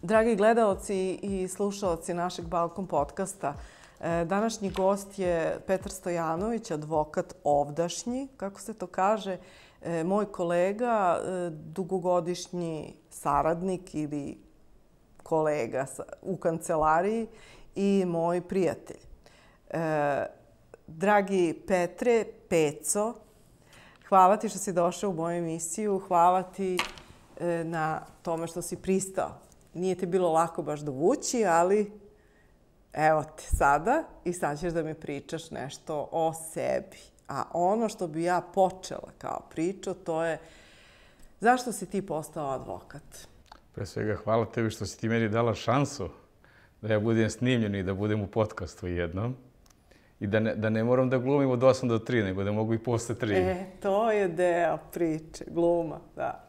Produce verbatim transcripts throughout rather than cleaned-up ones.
Dragi gledaoci i slušaoci našeg Balkon podcasta, današnji gost je Petar Stojanović, advokat ovdašnji, kako se to kaže, moj kolega, dugogodišnji saradnik ili kolega u kancelariji i moj prijatelj. Dragi Petre, Peco, hvala ti što si došao u moju emisiju, hvala ti na tome što si pristao. Nije ti bilo lako baš dovući, ali evo te sada i sad ćeš da mi pričaš nešto o sebi. A ono što bi ja počela kao priču, to je zašto si ti postao advokat? Pre svega, hvala tebi što si ti meni dala šansu da ja budem snimljen i da budem u podcastu jednom. I da ne, da ne moram da glumim od osam do tri, nego da mogu i posle tri. E, to je deo priče, gluma, da.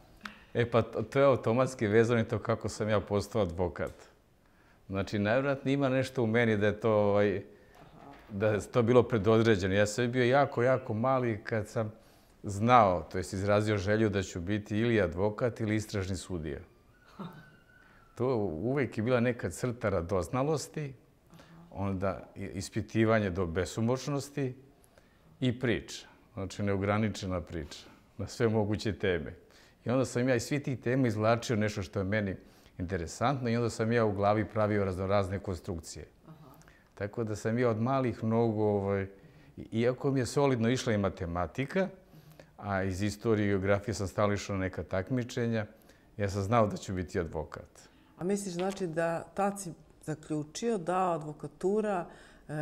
E pa to je automatski vezano i to kako sam ja postao advokat. Znači, najvjerojatnije ima nešto u meni da je to, ovaj, da je to bilo predodređeno. Ja sam bio jako, jako mali kad sam znao, to jest izrazio želju da ću biti ili advokat ili istražni sudija. To uvek je bila neka crta radoznalosti, onda ispitivanje do besomučnosti i priča. Znači, neograničena priča na sve moguće teme. I onda sam ja iz svih tih tema izvlačio nešto što je meni interesantno i onda sam ja u glavi pravio raznorazne konstrukcije. Aha. Tako da sam ja od malih nogu, ovaj, iako mi je solidno išla i matematika, a iz istorije i geografije sam stalno išao na neka takmičenja, ja sam znao da ću biti advokat. A misliš znači da tad si zaključio da advokatura e,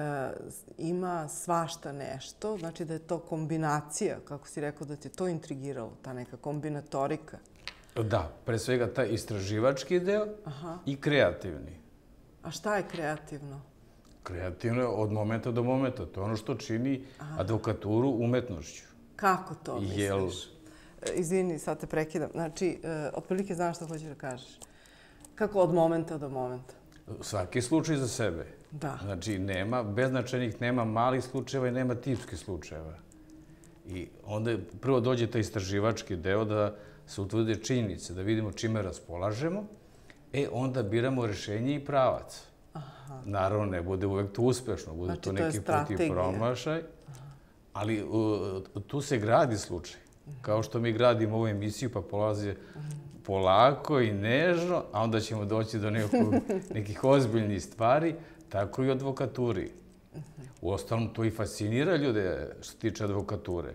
ima svašta nešto, znači da je to kombinacija, kako si rekao da te to intrigiralo, ta neka kombinatorika? Da, pre svega taj istraživački deo. Aha. I kreativni. A šta je kreativno? Kreativno je od momenta do momenta. To je ono što čini Aha. advokaturu umetnošću. Kako to misliš? Jel... Izvini, sad te prekidam. Znači, e, otprilike znaš što hoćeš da kažeš. Kako od momenta do momenta? Svaki slučaj za sebe. Da. Znači, nema beznačajnih, nema malih slučajeva i nema tipskih slučajeva. I onda prvo dođe taj istraživački deo da se utvrde činjenice, da vidimo čime raspolažemo, e onda biramo rešenje i pravac. Aha. Naravno, ne bude uvek to uspešno, bude znači, to neki to put i promašaj, ali uh, tu se gradi slučaj. Kao što mi gradimo ovu emisiju, pa polazi polako i nežno, a onda ćemo doći do nekog, nekih ozbiljnih stvari, tako i u advokaturi. Uostalom, to i fascinira ljude što se tiče advokature.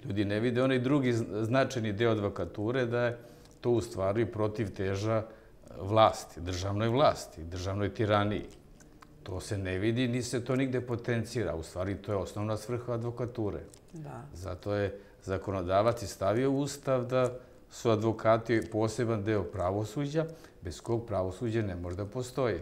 Ljudi ne vide onaj drugi značajni deo advokature, da je to u stvari protiv teža vlasti, državnoj vlasti, državnoj tiraniji. To se ne vidi, ni se to nigde potencira. U stvari, to je osnovna svrha advokature. Da. Zato je zakonodavac i stavio u Ustav da su advokati poseban deo pravosuđa, bez kog pravosuđe ne može da postoji.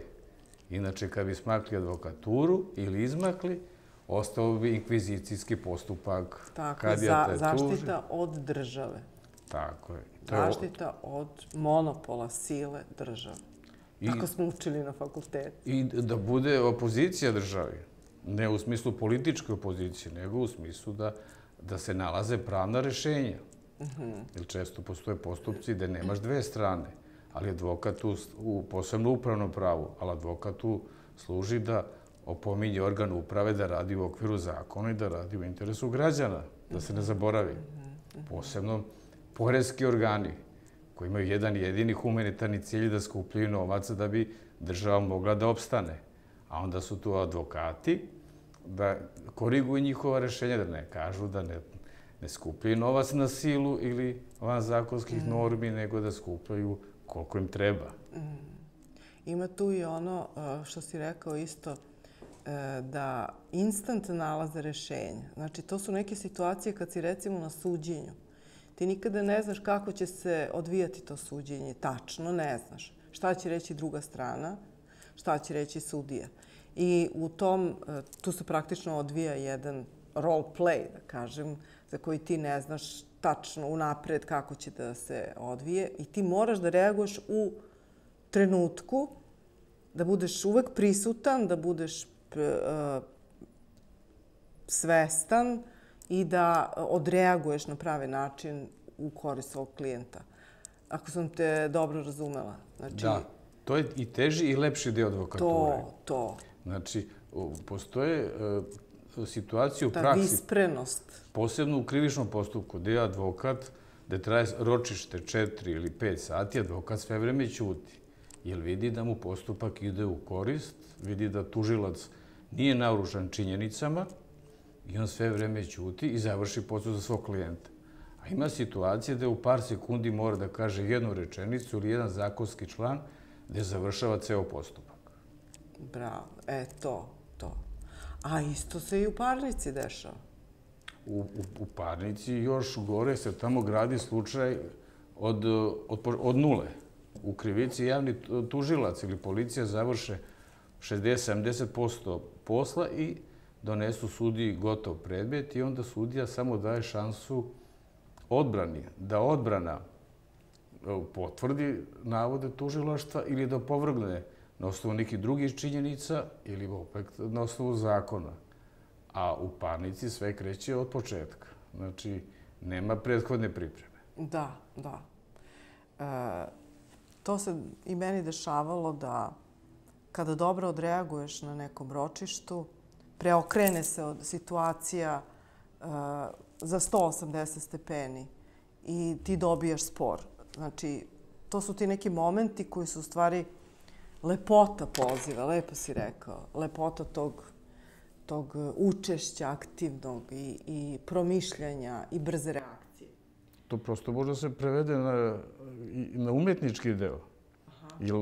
Inače, kad bi smakli advokaturu ili izmakli, ostao bi inkvizicijski postupak. Tako, za, zaštita od države. Tako je. Zaštita od monopola sile države. I, tako smo učili na fakultetu. I da bude opozicija državi. Ne u smislu političke opozicije, nego u smislu da, da se nalaze pravna rešenja. Uh-huh. Jer često postoje postupci gde nemaš dve strane, ali advokat u, u posebno upravnom pravu, ali advokat tu služi da opominje organ uprave da radi u okviru zakona i da radi u interesu građana, da se ne zaboravi. Posebno poreski organi koji imaju jedan jedini humanitarni cilj da skupljaju novac da bi država mogla da opstane. A onda su tu advokati da koriguju njihova rešenja, da ne kažu da ne, ne skupljaju novac na silu ili van zakonskih normi, nego da skupljaju koliko im treba. Ima tu i ono što si rekao isto, da instant nalaze rešenja. Znači, to su neke situacije kad si recimo na suđenju. Ti nikada ne znaš kako će se odvijati to suđenje. Tačno ne znaš. Šta će reći druga strana, šta će reći sudija. I u tom, tu se praktično odvija jedan role play, da kažem, za koji ti ne znaš tačno unapred kako će da se odvije i ti moraš da reaguješ u trenutku, da budeš uvek prisutan, da budeš svestan i da odreaguješ na pravi način u korist svog klijenta. ako sam te dobro razumela. Znači, da, to je i teži i lepši deo advokature. To, to. Znači, postoje situacije u ta praksi. Ta visprenost. Posebno u krivičnom postupku, gde je advokat, gde traje ročište četiri ili pet sati, advokat sve vreme ćuti. Jer vidi da mu postupak ide u korist, vidi da tužilac nije naoružan činjenicama i on sve vreme ćuti i završi posao za svog klijenta. A ima situacije da u par sekundi mora da kaže jednu rečenicu ili jedan zakonski član gde završava ceo postupak. Bravo. E, to, to. A isto se i u parnici dešava. U, u, u parnici još gore se tamo gradi slučaj od, od, od nule. U krivici javni tužilac ili policija završe šezdeset do sedamdeset posto posla i donesu sudiji gotov predmet i onda sudija samo daje šansu odbrani, da odbrana potvrdi navode tužilaštva ili da opovrgne na osnovu nekih drugih činjenica ili opet na osnovu zakona. A u parnici sve kreće od početka. Znači, nema prethodne pripreme. Da, da. E, to se i meni dešavalo da kada dobro odreaguješ na nekom ročištu, preokrene se od situacija e, za sto osamdeset stepeni i ti dobijaš spor. Znači, to su ti neki momenti koji su u stvari lepota poziva, lepo si rekao, lepota tog, tog učešća aktivnog i, i promišljanja i brze reakcije. To prosto može se prevede na, na umetnički deo. Aha. Jer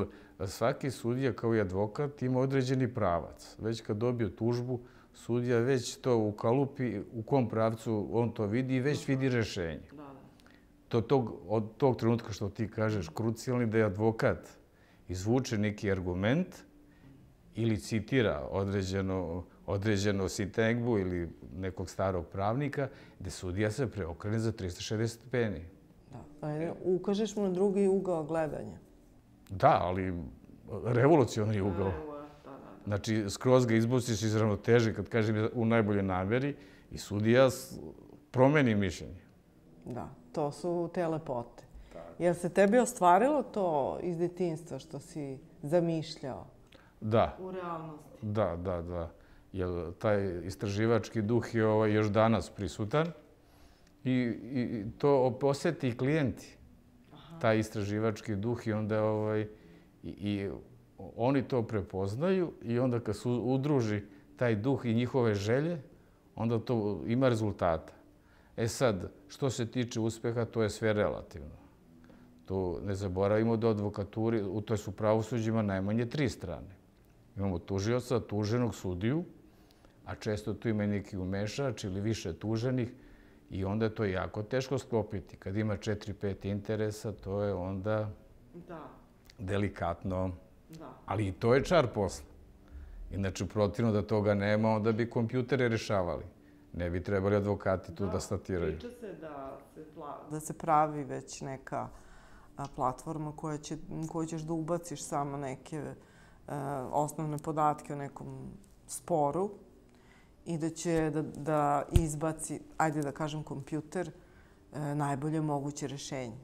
svaki sudija kao i advokat ima određeni pravac. Već kad dobije tužbu, sudija već to ukalupi u kom pravcu on to vidi i već vidi rešenje. Da, da. To, tog, od tog trenutka što ti kažeš, krucijalni da je advokat izvuče neki argument ili citira određeno, određeno sintagmu ili nekog starog pravnika, gde sudija se preokrene za trista šezdeset stepeni. Da, ajde, ukažeš mu na drugi ugao gledanja. Da, ali revolucionarni ugao. Znači, skroz ga izbuciš iz ravnoteže, kad kažem u najboljoj nameri, i sudija promeni mišljenje. Da, to su te lepote. Jel se tebi ostvarilo to iz detinjstva što si zamišljao? Da. U realnosti? Da, da, da. Jer taj istraživački duh je ovaj još danas prisutan i, i to osjeti i klijenti. Aha. Taj istraživački duh i onda ovaj, i, i oni to prepoznaju i onda kad se udruži taj duh i njihove želje, onda to ima rezultata. E sad, što se tiče uspeha, to je sve relativno. To ne zaboravimo da u advokaturi, u toj su pravosuđima najmanje tri strane. Imamo tužioca, tuženog, sudiju, a često tu ima i neki umešač ili više tuženih i onda je to jako teško sklopiti. Kad ima četiri pet interesa, to je onda da. delikatno. Da. Ali i to je čar posla. Inače, protivno da toga nema, onda bi kompjutere rešavali. Ne bi trebali advokati tu da, da statiraju. Priča se da se, pla... da se pravi već neka platforma koja će, koju ćeš da ubaciš samo neke e, osnovne podatke o nekom sporu i da će da, da izbaci, ajde da kažem, kompjuter, e, najbolje moguće rešenje.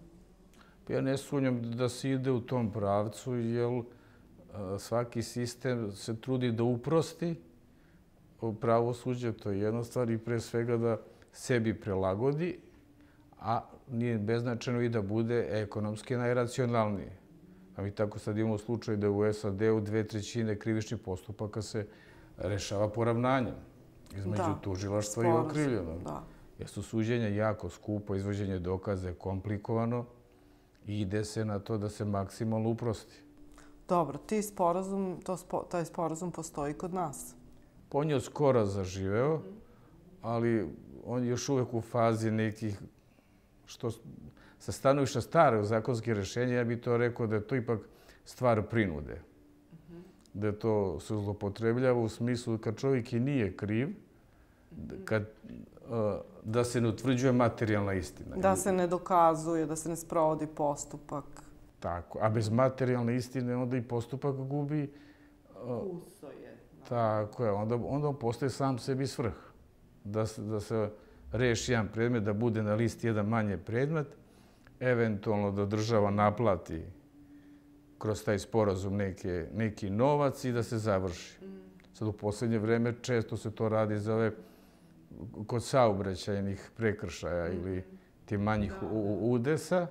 Ja ne sumnjam da se ide u tom pravcu, jer svaki sistem se trudi da uprosti pravosuđe, to je jedna stvar, i pre svega da sebi prilagodi, a nije beznačajno i da bude ekonomski najracionalnije. A mi tako sad imamo slučaj da u S A D-u dve trećine krivičnih postupaka se rešava poravnanjem između da, tužilaštva i okrivljenog. Da. Jer su suđenja jako skupo, izvođenje dokaza je komplikovano i ide se na to da se maksimalno uprosti. Dobro, ti sporazum, to spo, taj sporazum postoji kod nas? On je skoro zaživeo, ali on je još uvek u fazi nekih, što sa stanovišta starog zakonskih rešenja, ja bih to rekao da je to ipak stvar prinude. Da to se zlopotrebljava u smislu kad čovjek i nije kriv, kad, da se ne utvrđuje materijalna istina. Da se ne dokazuje, da se ne sprovodi postupak. Tako, a bez materijalne istine onda i postupak gubi... Kuso je. Tako je, onda, onda on postaje sam sebi svrh. Da se, da se reši jedan predmet, da bude na listi jedan manje predmet eventualno da država naplati kroz taj sporazum neke, neki novac i da se završi. Sad u posljednje vreme često se to radi za ove kod saobraćajnih prekršaja ili ti manjih udesa.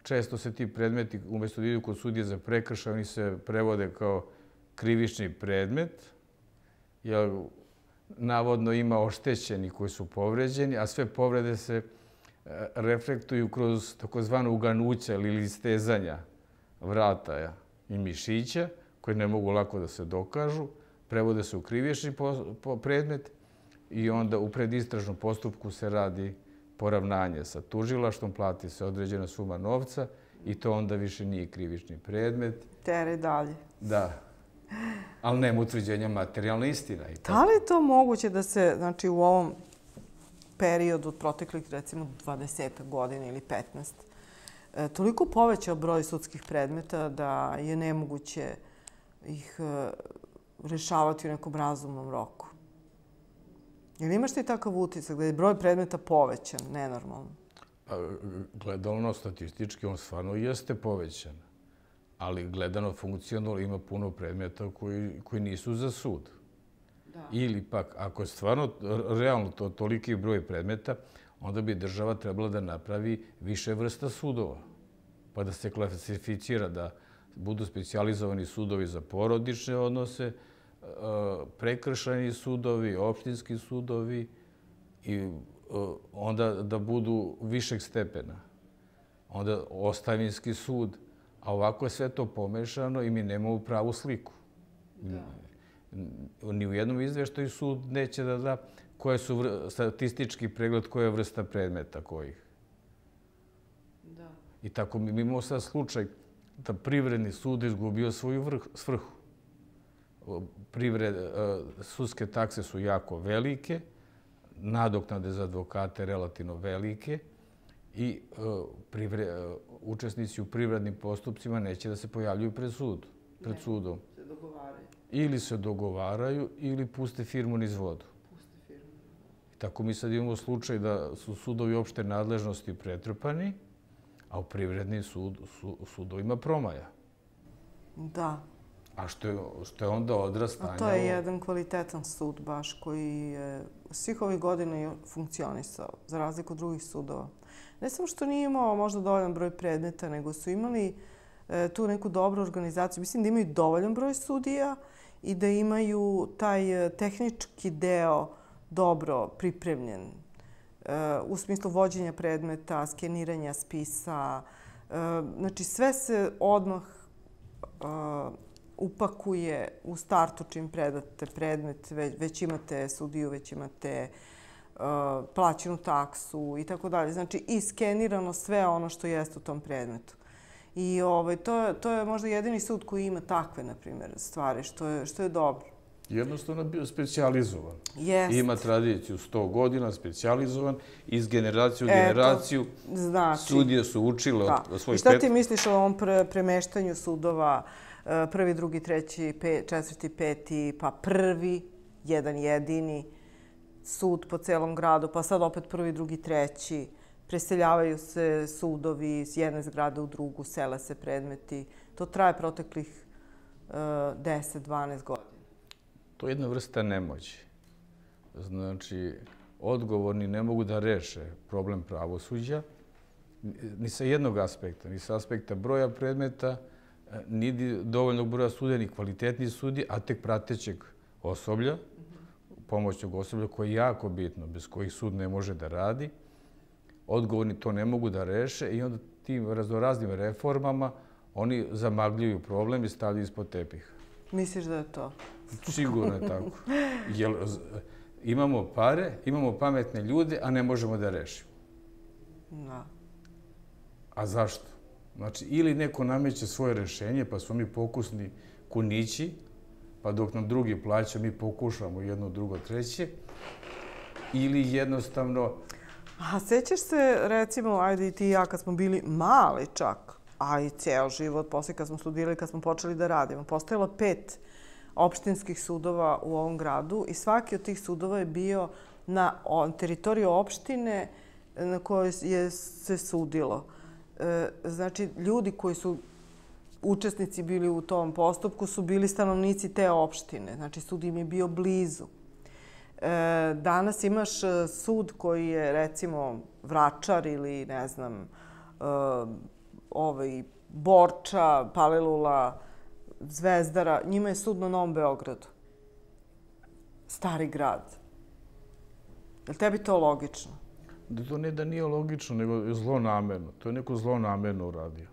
Često se ti predmeti, umjesto da idu kod sudije za prekršaj, oni se prevode kao krivični predmet, jer navodno ima oštećeni koji su povređeni, a sve povrede se reflektuju kroz takozvano uganuća ili stezanja vrata i mišića, koji ne mogu lako da se dokažu, prevode se u krivični predmet i onda u predistražnom postupku se radi poravnanje sa tužilaštvom, plati se određena suma novca i to onda više nije krivični predmet. Tere dalje. Da. Ali nema utvrđenja materijalna istina. Da li je to moguće da se, znači, u ovom periodu od proteklih, recimo, dvadeset godina ili petnaest, toliko povećao broj sudskih predmeta da je nemoguće ih rešavati u nekom razumnom roku? Jel imaš ti takav utisak da je broj predmeta povećan, nenormalno? Gledano statistički, on stvarno jeste povećan. Ali gledano funkcionalno ima puno predmeta koji, koji nisu za sud. Da. Ili pak, ako je stvarno realno to toliki broj predmeta, onda bi država trebala da napravi više vrsta sudova. Pa da se klasificira da budu specijalizovani sudovi za porodične odnose, prekršajni sudovi, opštinski sudovi i onda da budu višeg stepena. Onda ostavinski sud. A ovako je sve to pomešano i mi nemamo pravu sliku. Ni u jednom izveštaju sud neće da da koje su statistički pregled, koja je vrsta predmeta kojih. I tako mi imamo sad slučaj da privredni sud izgubio svoju svrhu. Sudske takse su jako velike, nadoknade za advokate relativno velike i učesnici u privrednim postupcima neće da se pojavljuju pred sudom. Ne, se dogovaraju. Ili se dogovaraju ili puste firmu niz vodu. Tako mi sad imamo slučaj da su sudovi opšte nadležnosti pretrpani, a u privrednim sudovima promaja. Da. A što je onda odraz stanja? A to je jedan kvalitetan sud baš koji je svih ovih godina funkcionisao, za razliku od drugih sudova. Ne samo što nije imao možda dovoljan broj predmeta, nego su imali tu neku dobru organizaciju. Mislim da imaju dovoljan broj sudija i da imaju taj tehnički deo dobro pripremljen. U smislu vođenja predmeta, skeniranja spisa. Znači sve se odmah upakuje u startu čim predate predmet, već imate sudiju, već imate plaćenu taksu i tako dalje. Znači i skenirano sve ono što jeste u tom predmetu. I to je možda jedini sud koji ima takve, na primjer, stvari, što je dobro. Jednostavno je bio specijalizovan. Jeste. Ima tradiciju sto godina, specijalizovan, iz generacije u generaciju sudije su učile od svojih pet... I šta ti misliš o ovom premeštanju sudova, prvi, drugi, treći, četvrti, peti, pa prvi, jedan jedini sud po celom gradu, pa sad opet prvi, drugi, treći, preseljavaju se sudovi s jedne zgrade u drugu, sele se predmeti. To traje proteklih deset do dvanaest godina. To je jedna vrsta nemoći. Znači, odgovorni ne mogu da reše problem pravosuđa ni sa jednog aspekta, ni sa aspekta broja predmeta, ni dovoljnog broja sudija, ni kvalitetnih sudija, a tek pratećeg osoblja, pomoćnog osoblja, koje je jako bitno, bez kojih sud ne može da radi. Odgovorni to ne mogu da reše i onda tim raznoraznim reformama oni zamagljuju problem i stavljaju ispod tepiha. Misliš da je to? Sigurno je tako. Jer imamo pare, imamo pametne ljude, a ne možemo da rešimo. Da. A zašto? Znači, ili neko nameće svoje rešenje, pa smo mi pokusni kunići, pa dok nam drugi plaća, mi pokušamo jedno, drugo, treće, ili jednostavno... A sećaš se, recimo, ajde i ti i ja, kad smo bili mali čak, a i ceo život, poslije kad smo studirali, kad smo počeli da radimo, postojalo pet opštinskih sudova u ovom gradu i svaki od tih sudova je bio na teritoriju opštine na kojoj je se sudilo. znači, ljudi koji su učesnici bili u tom postupku su bili stanovnici te opštine. Znači, sud im je bio blizu. Danas imaš sud koji je, recimo, Vračar ili, ne znam, ovaj, Borča, Palilula, Zvezdara. Njima je sud na Novom Beogradu. Stari grad. Je li tebi to logično? To ne da nije logično, nego je zlonamerno. To je neko zlonamerno uradio.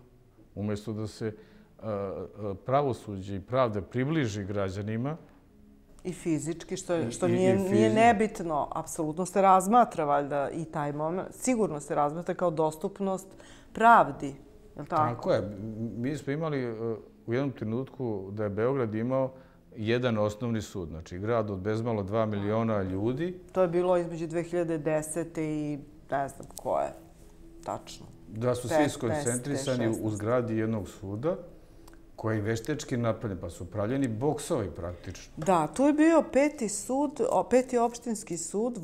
Umjesto da se pravosuđe i pravda približi građanima. I fizički, što nije nebitno. Apsolutno se razmatra, valjda, i taj moment. Sigurno se razmatra kao dostupnost pravdi. Je li tako? Tako je. Mi smo imali u jednom trenutku da je Beograd imao jedan osnovni sud. Znači, grad od bezmalo dva miliona ljudi. To je bilo između dve hiljade desete i ne znam ko je. Tačno. Da su svi skoncentrisani u zgradi jednog suda, koji je veštečki napravljen, pa su pravljeni boksovi praktično. Da, tu je bio peti sud, peti opštinski sud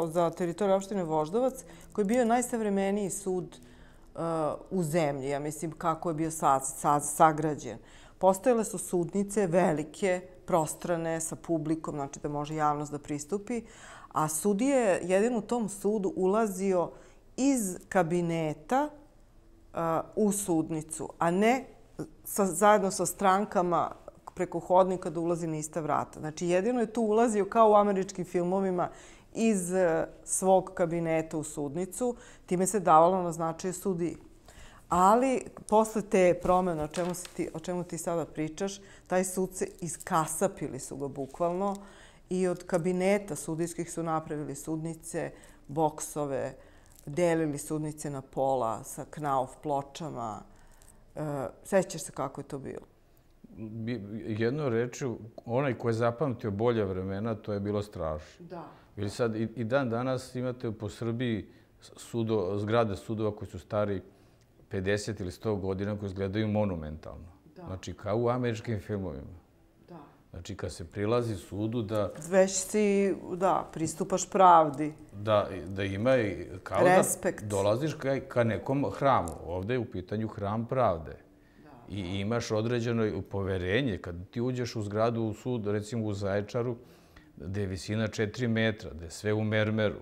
za teritoriju opštine Voždovac, koji je bio najsavremeniji sud u zemlji, ja mislim kako je bio sagrađen. Postojale su sudnice velike, prostrane, sa publikom, znači da može javnost da pristupi, a sudija je jedin u tom sudu ulazio iz kabineta u sudnicu, a ne zajedno sa strankama preko hodnika da ulazi na ista vrata. Znači, jedino je tu ulazio kao u američkim filmovima iz svog kabineta u sudnicu, time se davalo na značaju sudiji. Ali, posle te promene o čemu ti sada pričaš, taj sud se iskasapili su ga bukvalno i od kabineta sudijskih su napravili sudnice, boksove, delili sudnice na pola sa knauf pločama. Sećaš se kako je to bilo? Jedno rečju, onaj ko je zapamtio bolje vremena, to je bilo strašno. Da. Jer sad i dan danas imate po Srbiji zgrade sudova koji su stari pedeset ili sto godina, koji izgledaju monumentalno. Znači, kao u američkim filmovima. Znači, kad se prilazi sudu da... Već si, da, pristupaš pravdi. Da ima kao da dolaziš ka nekom hramu. Ovde je u pitanju hram pravde. I imaš određeno poverenje. Kad ti uđeš u zgradu u sud, recimo u Zaječaru, gde je visina četiri metra, gde je sve u mermeru,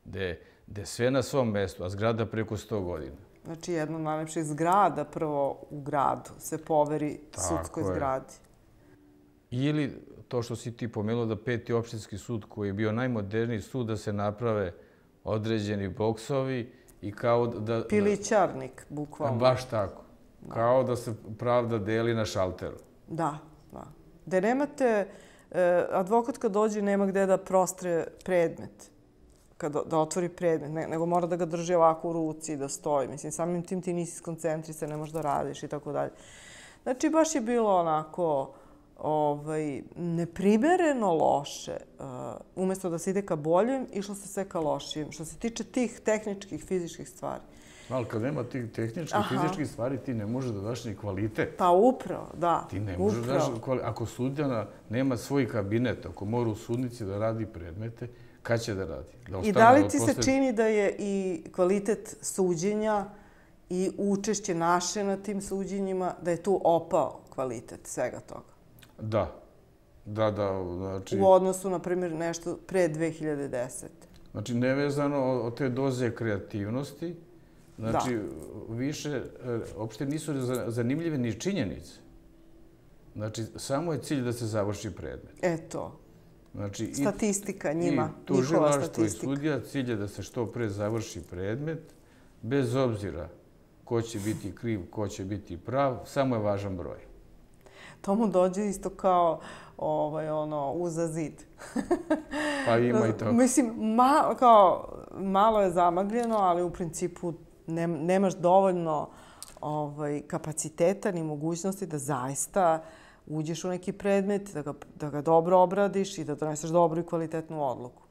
gde je sve na svom mestu, a zgrada preko sto godina. Znači, jedna od najlepših zgrada prvo u gradu se poveri sudskoj zgradi. Ili to što si ti pomenuo da peti opštinski sud koji je bio najmoderniji sud da se naprave određeni boksovi i kao da... Pilićarnik, bukvalno. Baš tako. Kao da se pravda deli na šalteru. Da, da. Da nemate... Advokat kad dođe nema gde da prostre predmet, da otvori predmet, nego mora da ga drži ovako u ruci i da stoji. Mislim, samim tim ti nisi skoncentrisan, ne možeš da radiš i tako dalje. Znači, baš je bilo onako... neprimereno loše. Umjesto da se ide ka boljem, išlo se sve ka lošijem. Što se tiče tih tehničkih, fizičkih stvari. Ali kad nema tih tehničkih, fizičkih stvari, ti ne možeš da daš ni kvalitet. Pa upravo, da. Ti ne možeš da daš kvalitet. Ako sudija nema svoj kabinet, ako mora u sudnici da radi predmete, kad će da radi? I da li ti se čini da je i kvalitet suđenja i učešće naše na tim suđenjima, da je tu opao kvalitet svega toga? Da. Da, da. U odnosu, na primjer, nešto pre dve hiljade desete. Znači, nevezano od te doze kreativnosti, znači, više, uopšte nisu zanimljive ni činjenice. Znači, samo je cilj da se završi predmet. Eto. Statistika njima, njihova statistika. I tužilaštvo i sudija, cilj je da se što pre završi predmet, bez obzira ko će biti kriv, ko će biti prav, samo je važan broj. To mu dođe isto kao uza zid. Pa ima i to. Mislim, malo je zamagljeno, ali u principu nemaš dovoljno kapaciteta ni mogućnosti da zaista uđeš u neki predmet, da ga dobro obradiš i da doneseš dobru i kvalitetnu odluku.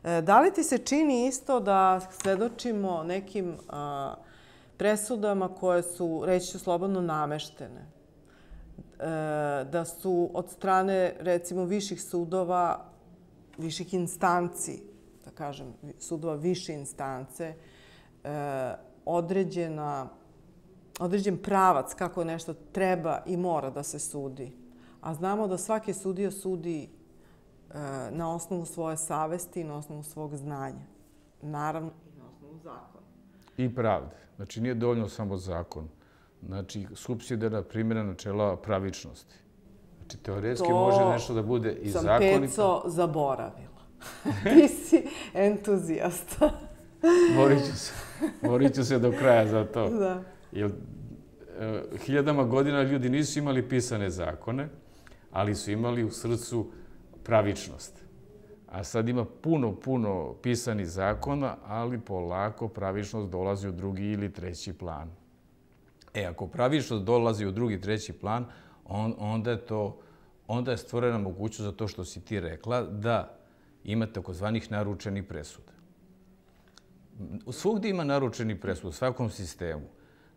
Da li ti se čini isto da svedočimo nekim presudama koje su, reći ću slobodno, nameštene? Da su od strane, recimo, viših sudova, viših instanci, da kažem, sudova više instance, određena, određen pravac kako nešto treba i mora da se sudi. A znamo da svaki sudija sudi na osnovu svoje savesti i na osnovu svog znanja. Naravno, i na osnovu zakona. I pravde. Znači, nije dovoljno samo zakon. Znači, supsidijarna primjena načela pravičnosti. Znači, teoretski može nešto da bude i zakonito. To sam Peco zaboravila. Ti si entuzijasta. Borit ću se. Borit ću se do kraja za to. Da. Jer hiljadama godina ljudi nisu imali pisane zakone, ali su imali u srcu pravičnost. A sad ima puno, puno pisanih zakona, ali polako pravičnost dolazi u drugi ili treći plan. E, ako pravičnost dolazi u drugi, treći plan, onda je to, onda je stvorena mogućnost za to što si ti rekla, da ima takozvanih naručenih presuda. Svugdje ima naručenih presuda, u svakom sistemu,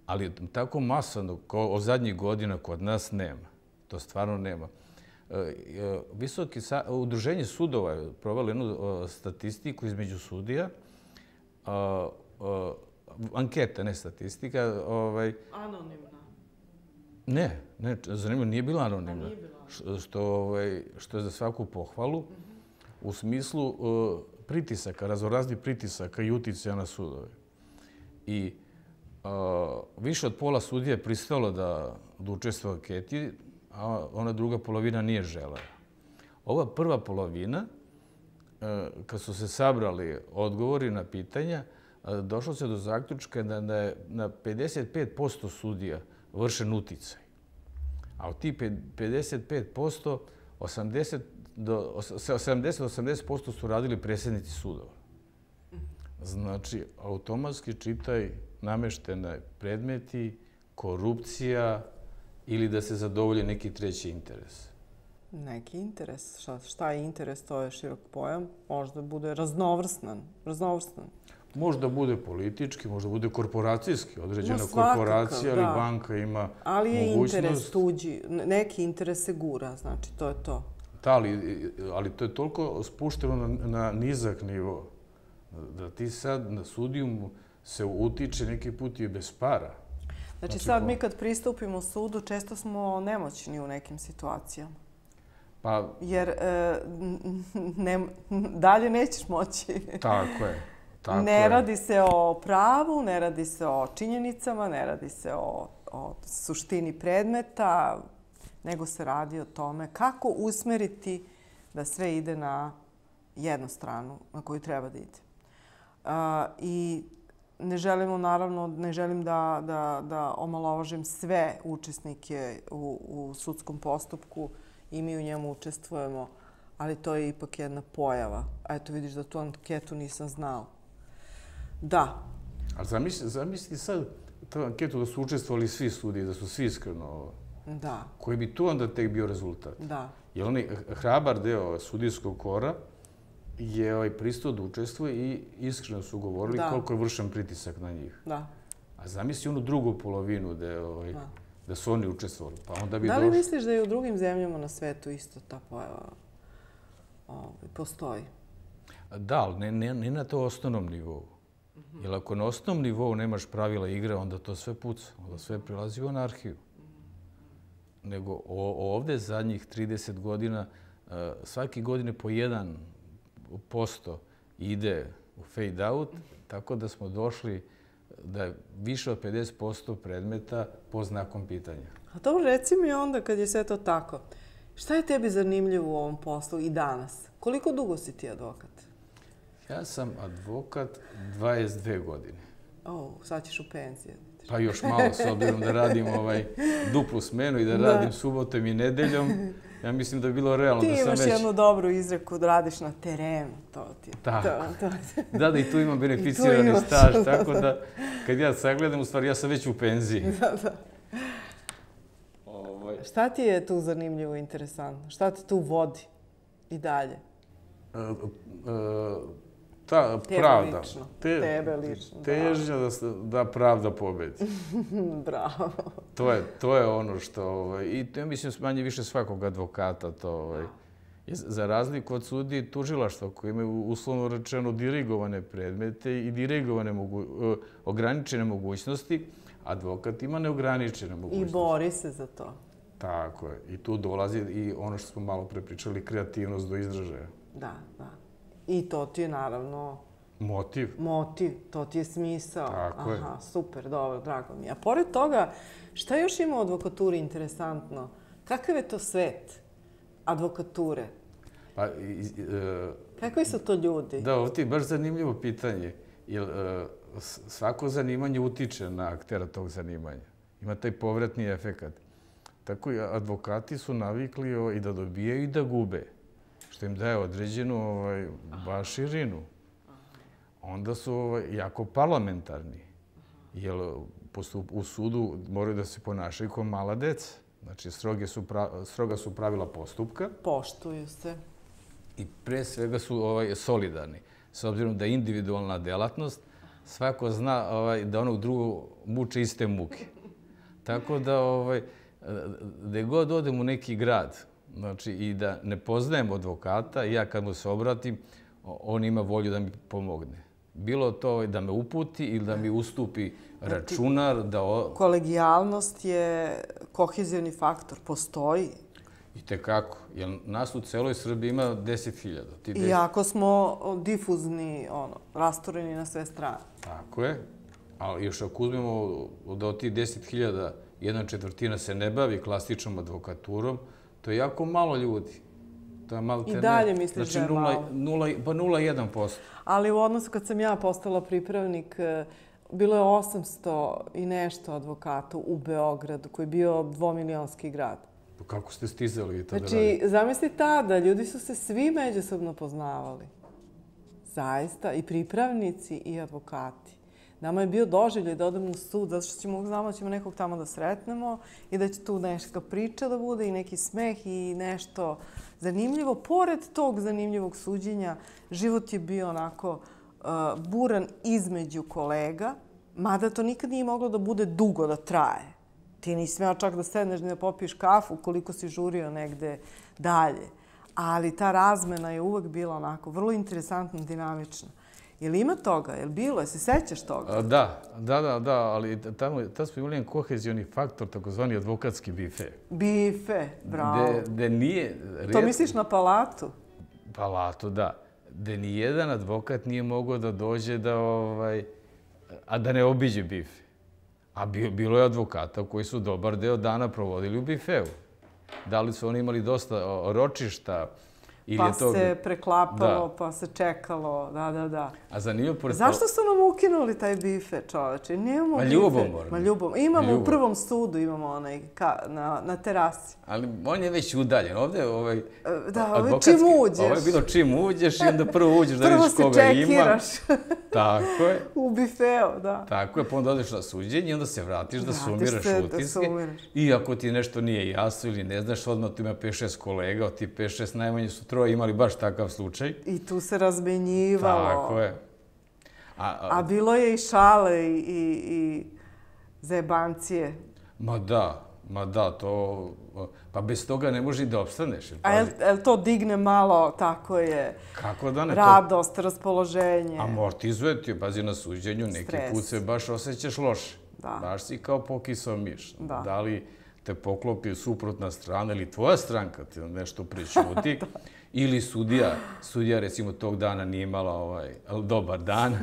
ali tako masano kao od zadnjih godina kod nas nema. To stvarno nema. Visoki udruženje sudova je provelo jednu statistiku između sudija, anketa, ne statistika. Anonimna? Ne, ne, zanimljivo, nije bila anonimna, što je za svaku pohvalu u smislu pritisaka, raznoraznih pritisaka i uticaja na sudove. I više od pola sudija je pristalo da učestvuje u anketi, a ona druga polovina nije želela. Ova prva polovina, kad su se sabrali odgovori na pitanja, došlo se do zaključka da je na pedeset pet posto sudija vršen uticaj. A od tih pedeset pet posto, sedamdeset do osamdeset posto su radili predsjednici sudova. Znači, automatski čitaj nameštene predmeti, korupcija, ili da se zadovolji neki treći interes? Neki interes. Šta je interes, to je širok pojam. Možda bude raznovrstan. Možda bude politički, možda bude korporacijski. Određena korporacija ili banka ima mogućnost. Ali je interes tuđi. Neki interes se gura, znači to je to. Da, ali to je toliko spušteno na nizak nivo da ti sad na sudiju se utiče neki put i bez para. Znači sad mi kad pristupimo sudu, često smo nemoćni u nekim situacijama. Jer dalje nećeš moći. Tako je. Ne radi se o pravu, ne radi se o činjenicama, ne radi se o suštini predmeta, nego se radi o tome kako usmeriti da sve ide na jednu stranu na koju treba da ide. I ne želimo, naravno, ne želim da omalovažim sve učesnike u sudskom postupku i mi u njemu učestvujemo, ali to je ipak jedna pojava. Eto, vidiš da tu anketu nisam znao. Da. A zamisli sad tu anketu da su učestvovali svi sudije, da su svi iskreno... Da. Koji bi tu onda tek bio rezultat? Da. Jer onaj hrabar deo sudijskog kora je pristao da učestvuje i iskreno su govorili koliko je vršen pritisak na njih. Da. A zamisli onu drugu polovinu da su oni učestvovali. Da li misliš da i u drugim zemljama na svetu isto ta pojava postoji? Da, ali ne na to osnovnom nivou. Jer ako na osnovnom nivou nemaš pravila igre, onda to sve puca. Onda sve prilazi u anarhiju. Nego ovde zadnjih trideset godina svake godine po jedan posto ide u fade out, tako da smo došli da je više od pedeset posto predmeta po znakom pitanja. A dobro, reci mi onda kad je sve to tako, šta je tebi zanimljivo u ovom poslu i danas? Koliko dugo si ti advokat? Ja sam advokat dvadeset dve godine. O, sad ćeš u penziju. Pa još malo, s obzirom da radim duplu smenu i da radim subotom i nedeljom. Ja mislim da je bilo realno da sam već... Ti imaš jednu dobru izreku da radiš na terenu. Tako. Da, da i tu imam beneficirani staž, tako da kad ja sagledam, u stvari ja sam već u penziji. Da, da. Šta ti je tu zanimljivo i interesantno? Šta te tu vodi i dalje? Ta pravda. Tebe lično. Težnja da pravda pobedi. Bravo. To je ono što... I ja mislim manje više svakog advokata to Za razliku od sudije i tužilaštva koji imaju uslovno rečeno dirigovane predmete i dirigovane ograničene mogućnosti, advokat ima neograničene mogućnosti. I bori se za to. Tako je. I tu dolazi i ono što smo malo pre pričali, kreativnost do izražaja. Da, da. I to ti je naravno... Motiv. Motiv, to ti je smisao. Tako je. Aha, super, dobro, drago mi je. A pored toga, šta još ima u advokaturi interesantno? Kakav je to svet advokature? Pa, kakvi su to ljudi? Da, ovo ti je baš zanimljivo pitanje. Jer svako zanimanje utiče na aktera tog zanimanja. Ima taj povratni efekat. Tako i advokati su navikli i da dobijaju i da gube, što im daje određenu baš širinu. Onda su jako parlamentarni, jer u sudu moraju da se ponašaju kao mala deca. Znači, stroga su pravila postupka. Poštuju se. I pre svega su solidarni. S obzirom da je individualna delatnost, svako zna da onog drugog muče iste muke. Tako da, gde god odem u neki grad, znači i da ne poznajem advokata, ja kad mu se obratim, on ima volju da mi pomogne. Bilo to da me uputi ili da mi ustupi računar. Kolegijalnost je kohezivni faktor, postoji. I tekako, jer nas u celoj Srbiji ima deset hiljada. Iako smo difuzni, rastoreni na sve strane. Tako je, ali još ako uzmemo da od tih deset hiljada jedna četvrtina se ne bavi klasičnom advokaturom, to je jako malo ljudi. I dalje misliš da je malo? Pa nula zarez jedan posto. Ali u odnosu kad sam ja postala pripravnik, bilo je osamsto i nešto advokata u Beogradu, koji je bio dvomilionski grad. Kako ste stizali i tada raditi? Znači, zamisli tada, ljudi su se svi međusobno poznavali. Zaista, i pripravnici i advokati. Nama je bio doživljaj da odemo u sud, zato što ćemo znamo da ćemo nekog tamo da sretnemo i da će tu neka priča da bude i neki smeh i nešto zanimljivo. Pored tog zanimljivog suđenja, život je bio onako buran između kolega, mada to nikad nije moglo da bude dugo, da traje. Ti nisi smeo čak da sedneš da popiješ kafu koliko si žurio negde dalje. Ali ta razmena je uvek bila onako vrlo interesantna, dinamična. Je li ima toga? Je li bilo? Je se sećaš toga? Da, da, da, da, ali tamo smo imali jedan kohezijoni faktor, takozvani advokatski bife. Bife, bravo. Gde nije... To misliš na palatu? Palatu, da. Gde nijedan advokat nije mogao da dođe da, a da ne obiđe bife. A bilo je advokata koji su dobar deo dana provodili u bifeu. Da li su oni imali dosta ročišta, pa se preklapalo, pa se čekalo, da, da, da. A zanimljivo pored... Zašto su nam ukinuli taj bife, čoveče? Nemamo bife. Ma ljubomorno. Ma ljubomorno. Imamo u prvom sudu, imamo onaj na terasi. Ali on je već udaljen. Ovde ovaj... Da, ovo je čim uđeš. Ovo je bilo čim uđeš i onda prvo uđeš da vidiš koga ima. Prvo se čekiraš. Tako je. U bifeu, da. Tako je, pa onda odeš na suđenje i onda se vratiš da sumiraš utiske. I ako ti nešto nije jasno ili ne znaš, odmah tu ima pet šest kolega, od ti pet šest najmanje su troje imali baš takav slučaj. I tu se razmenjivalo. Tako je. A bilo je i šale i zajebancije. Ma da, ma da, to... Pa bez toga ne može i da opstaneš. A je li to digne malo, tako je, kako da ne, radost, raspoloženje? Amortizuje ti, pazi na suđenju, neki put se baš osjećaš loše. Baš si kao pokisao miš. Da li te poklopi suprotna strana ili tvoja stranka ti nešto prećuti, ili sudija, sudija recimo tog dana nije imala dobar dan,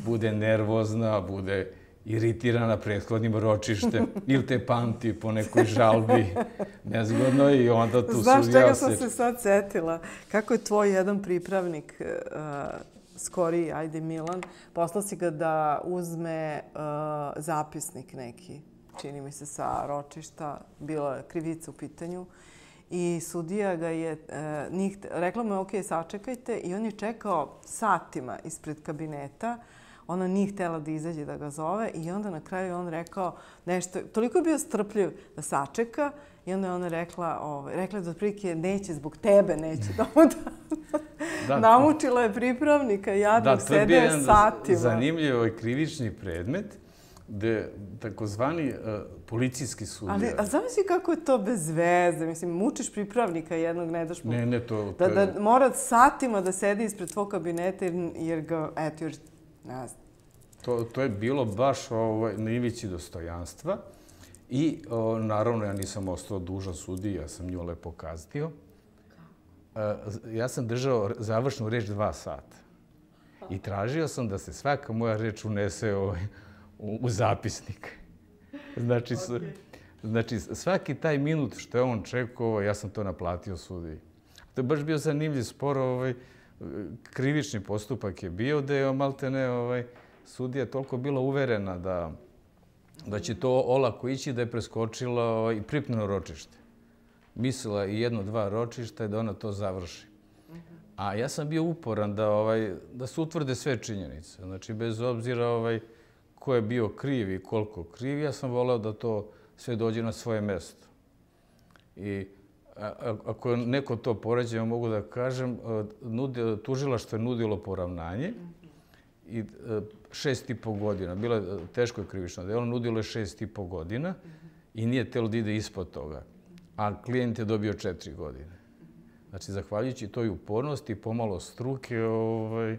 bude nervozna, bude iritirana prethodnim ročištem ili te pamti po nekoj žalbi nezgodno i onda tu sudija se... Znaš čega sam se sad setila? Kako je tvoj jedan pripravnik, skoriji, ajde Milan, poslao si ga da uzme zapisnik neki, čini mi se sa ročišta, bila je krivica u pitanju. I sudija ga je, rekla mu je, ok, sačekajte, i on je čekao satima ispred kabineta. Ona nije htjela da izađe da ga zove i onda na kraju on rekao nešto, toliko je bio strpljiv da sačeka i onda je ona rekla, rekla da otprilike neće zbog tebe, neće da mu da. Namučila je pripravnika, jadnog, sedeo satima. Zanimljiv je ovaj krivični predmet gde takozvani policijski sudija... Ali, a zamisli kako je to bez veze? Mislim, mučiš pripravnika jednog, ne daš mu... Ne, ne, to... Da, da mora satima da sedi ispred tvog kabineta jer ga, eto, još, ne znam. To, to je bilo baš ovaj, na ivici dostojanstva i o, naravno ja nisam ostao dužan sudiji, ja sam nju lepo kaznio. E, ja sam držao završnu reč dva sata i tražio sam da se svaka moja reč unese ovaj, u, u zapisnik. Znači, okay. znači, svaki taj minut što je on čekao, ja sam to naplatio sudiji. To je baš bio zanimljiv spor, ovaj, krivični postupak je bio da je maltene ovaj, sudija toliko bila uverena da, da će to olako ići da je preskočila ovaj, i pripneno ročište. Mislila i jedno, dva ročišta i da ona to završi. A ja sam bio uporan da, ovaj, da se utvrde sve činjenice. Znači, bez obzira ovaj, ko je bio kriv i koliko kriv, ja sam voleo da to sve dođe na svoje mesto. I a, ako neko to poređe, mogu da kažem, nudi, tužilaštvo je nudilo poravnanje i šest i po godina. Bilo je teško krivično delo, nudilo je šest i po godina i nije telo da ide ispod toga. A klijent je dobio četiri godine. Znači, zahvaljujući toj upornosti i pomalo struke, ovaj,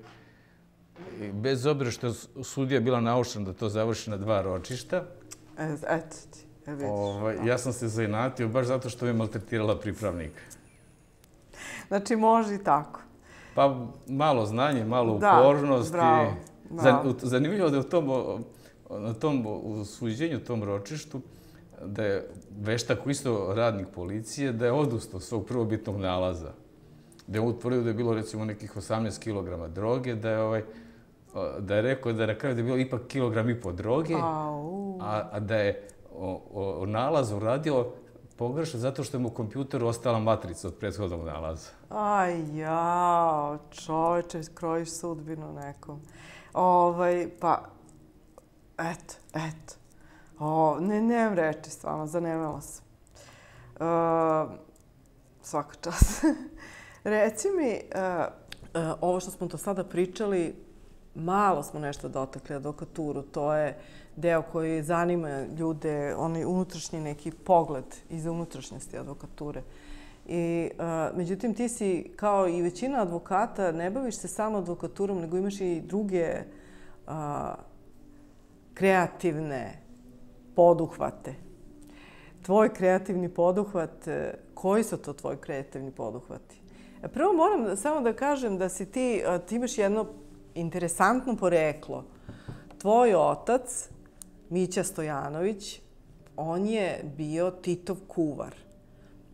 bez obzira što je sudija bila naučena da to završi na dva ročišta, eto ti, vidiš. Ovaj, ja sam se zainatio baš zato što me maltretirala pripravnika. Znači, može i tako. Pa malo znanje, malo upornost. Da, bravo. bravo. Zanimljivo da je u tom, na tom suđenju, tom ročištu, da je veštak isto radnik policije, da je odustao svog prvobitnog nalaza. Da je utvrdio da je bilo recimo nekih osamnaest kilograma droge, da je, ovaj, da je rekao da je na kraju da je bilo ipak kilogram i po droge, a, a da je o, o, o nalazu uradio pogrešno zato što je mu u kompjuteru ostala matrica od prethodnog nalaza. Aj, jao, čoveče, krojiš sudbinu nekom. Ovaj, pa, eto, eto. O, ne, nemam reči, stvarno, zanemela sam. Uh, svaka čast. Reci mi, uh, uh, ovo što smo to sada pričali, malo smo nešto dotakli advokaturu. To je deo koji zanima ljude, onaj unutrašnji neki pogled iz unutrašnjosti advokature. I, uh, međutim, ti si, kao i većina advokata, ne baviš se samo advokaturom, nego imaš i druge uh, kreativne poduhvate. Tvoj kreativni poduhvat, koji su to tvoji kreativni poduhvati? Prvo moram samo da kažem da si ti, ti imaš jedno interesantno poreklo. Tvoj otac, Mića Stojanović, on je bio Titov kuvar.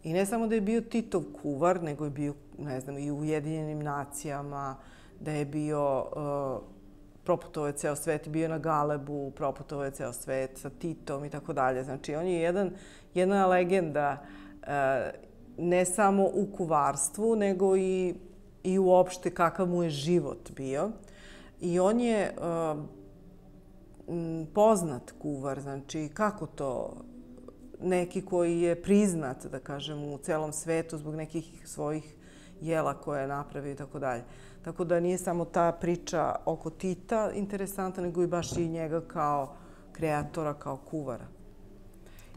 I ne samo da je bio Titov kuvar, nego je bio, ne znam, i u Ujedinjenim nacijama, da je bio... Uh, proputovao je ceo svet, bio na Galebu, proputovao je ceo svet sa Titom i tako dalje. Znači, on je jedan, jedna legenda ne samo u kuvarstvu, nego i, i uopšte kakav mu je život bio. I on je poznat kuvar, znači kako to neki koji je priznat, da kažem, u celom svetu zbog nekih svojih jela koje je napravio i tako dalje. Tako da nije samo ta priča oko Tita interesantna, nego i baš i njega kao kreatora, kao kuvara.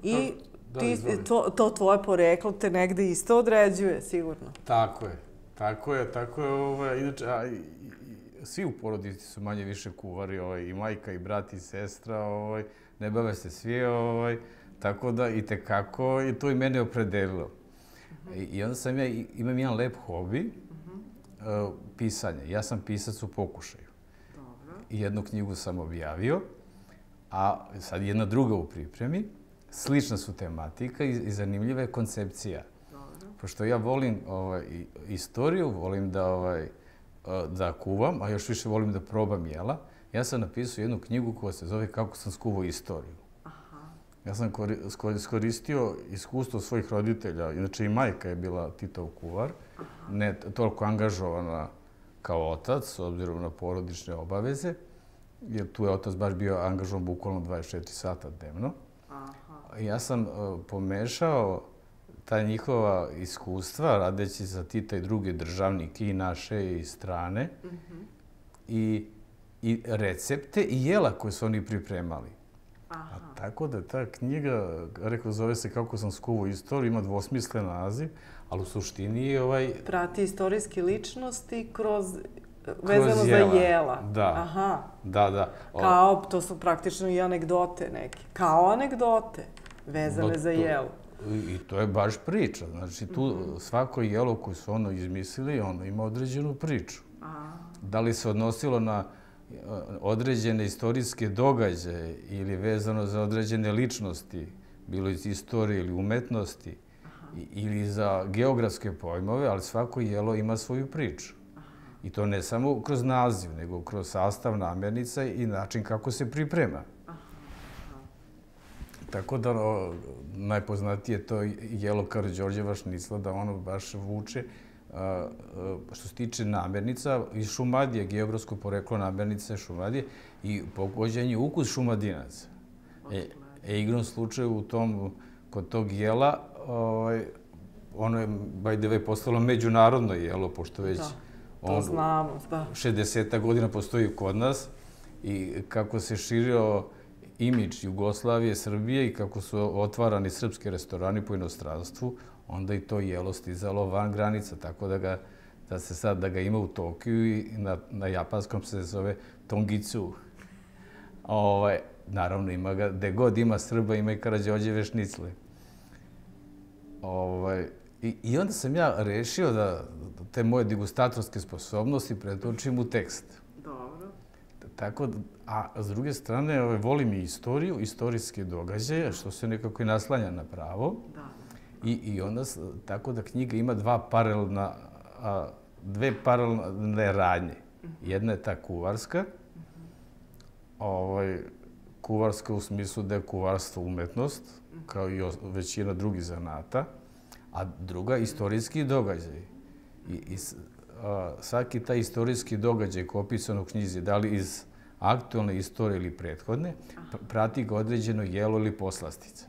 I ti, to, to tvoje poreklo te negde isto određuje, sigurno. Tako je. Tako je, tako je. Ovaj, inače, a, i, i, svi u porodici su manje više kuvari, ovaj, i majka, i brat, i sestra, ovaj, ne bave se svi, ovaj, tako da i tekako, i to i mene opredelilo. Uh-huh. I, I onda sam ja, imam jedan lep hobi, uh, pisanje. Ja sam pisac u pokušaju. Dobro. I jednu knjigu sam objavio, a sad jedna druga u pripremi. Slična su tematika i, i zanimljiva je koncepcija. Dobro. Pošto ja volim ovaj, istoriju, volim da, ovaj, da kuvam, a još više volim da probam jela. Ja sam napisao jednu knjigu koja se zove Kako sam skuvao istoriju. Aha. Ja sam iskoristio iskustvo svojih roditelja. Inače i majka je bila Titov kuvar. Aha. Ne toliko angažovana kao otac, s obzirom na porodične obaveze. Jer tu je otac baš bio angažovan bukvalno dvadeset četiri sata dnevno. Ja sam uh, pomešao ta njihova iskustva, radeći za Tita i druge državnike, i naše, i strane, mm-hmm. i, i recepte i jela koje su oni pripremali. A tako da ta knjiga, rekao, zove se Kako sam skuvao istoriju, ima dvosmislen naziv, ali u suštini je ovaj... Prati istorijske ličnosti kroz... vezano za jela. Da. Aha. Da, da. Kao, to su praktično i anegdote neke. Kao anegdote vezane za jelo. I to je baš priča. Znači, tu svako jelo koje su ono izmislili, ono ima određenu priču. Da li se odnosilo na određene istorijske događaje ili vezano za određene ličnosti, bilo iz istorije ili umetnosti, ili za geografske pojmove, ali svako jelo ima svoju priču. I to ne samo kroz naziv, nego kroz sastav namirnica i način kako se priprema. Tako da najpoznatije to jelo Karađorđeva šnicla, da ono baš vuče. Što se tiče namirnica, iz Šumadije, geografsko poreklo namirnica je Šumadije i pogođen je ukus Šumadinaca. E, igrom slučaju u tom, kod tog jela, ono je, by the way, postalo međunarodno jelo, pošto već... To znamo, da. šezdeset godina postoji kod nas i kako se širio imidž Jugoslavije, Srbije i kako su otvarani srpski restorani po inostranstvu, onda i to jelo stizalo van granica, tako da ga, da se sad, da ga ima u Tokiju i na, na japanskom se zove Tongitsu. Ovaj, naravno, ima ga, gde god ima Srba, ima i Karađorđeve šnicle. Ovaj, i, I onda sam ja rešio da te moje degustatorske sposobnosti pretočim u tekst. Dobro. Tako, a s druge strane, ovaj, volim i istoriju, istorijske događaje, što se nekako i naslanja na pravo. Da. I, i onda, tako da knjiga ima dva paralelna, a, dve paralelne radnje. Jedna je ta kuvarska, ovaj, kuvarska u smislu da je kuvarstvo umetnost, kao i većina drugih zanata, a druga istorijski događaj. I, i a, svaki taj istorijski događaj koji je opisan u knjizi, da li iz aktualne istorije ili prethodne, prati ga određeno jelo ili poslastica.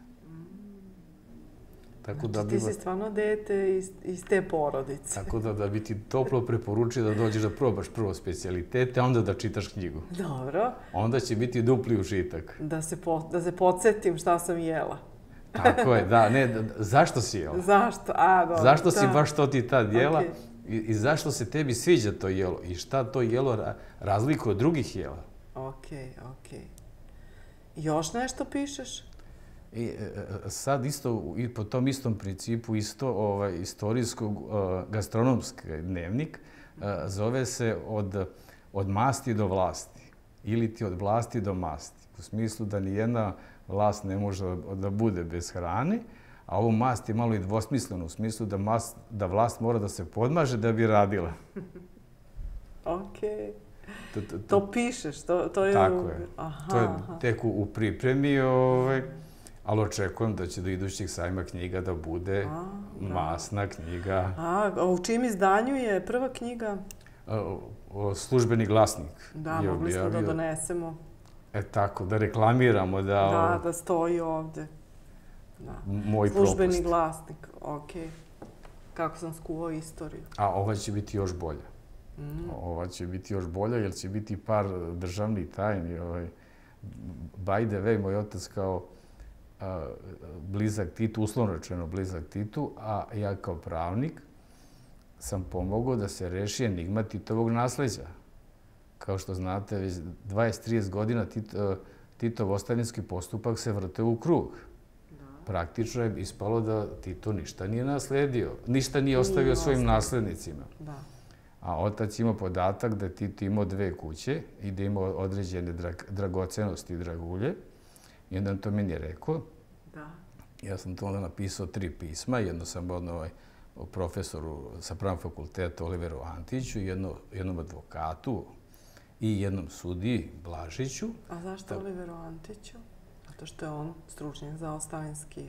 Tako znači, ti si stvarno dete iz, iz te porodice. Tako da, da bi ti toplo preporučio da dođeš da probaš prvo specijalitete, a onda da čitaš knjigu. Dobro. Onda će biti dupli užitak. Da se, po, da se podsjetim šta sam jela. Tako je, da. Ne, da, zašto si jela? Zašto? A, dobro. Zašto da. si baš to ti tad jela? Okay. I, I zašto se tebi sviđa to jelo? I šta to jelo ra, razlikuje od drugih jela? Okej, okej. Još nešto pišeš? I sad isto, i po tom istom principu, isto ovaj, istorijskog uh, gastronomski dnevnik, uh, zove se od, od masti do vlasti. Ili ti od vlasti do masti. U smislu da nijedna vlast ne može da bude bez hrane, a ovo mast je malo i dvosmisleno, u smislu da, mast, da vlast mora da se podmaže da bi radila. Okej. To, to, to pišeš, to, to je... Tako je. Aha, to je tek u, u pripremi, ovaj, ali očekujem da će do idućih sajma knjiga da bude a, masna knjiga. A, a u čim izdanju je prva knjiga? A, o, službeni glasnik. Da, mogli smo da donesemo. E tako, da reklamiramo da... Da, da stoji ovde. Da. Moj službeni propust. glasnik, okej. Kako sam skuvao istoriju. A ova će biti još bolja. Mm. Ova će biti još bolja jer će biti par državnih tajni. Ovaj. By the way, moj otac kao a, blizak Titu, uslovno rečeno blizak Titu, a ja kao pravnik sam pomogao da se reši enigma Titovog nasleđa. Kao što znate, već dvadeset do trideset godina Tito, Titov ostavinski postupak se vrte u krug. Da. Praktično je ispalo da Tito ništa nije nasledio, ništa nije ostavio nije svojim ostavio. naslednicima. Da. A otac ima podatak da je Tito imao dve kuće i da imao određene drag, dragocenosti i dragulje. I onda to meni je rekao. Da. Ja sam to onda napisao tri pisma. Jedno sam odno ovaj, profesoru sa pravnog fakulteta Oliveru Antiću, jedno, jednom advokatu i jednom sudiji Blažiću. A zašto Oliveru Antiću? Zato što je on stručnjak za ostavinski.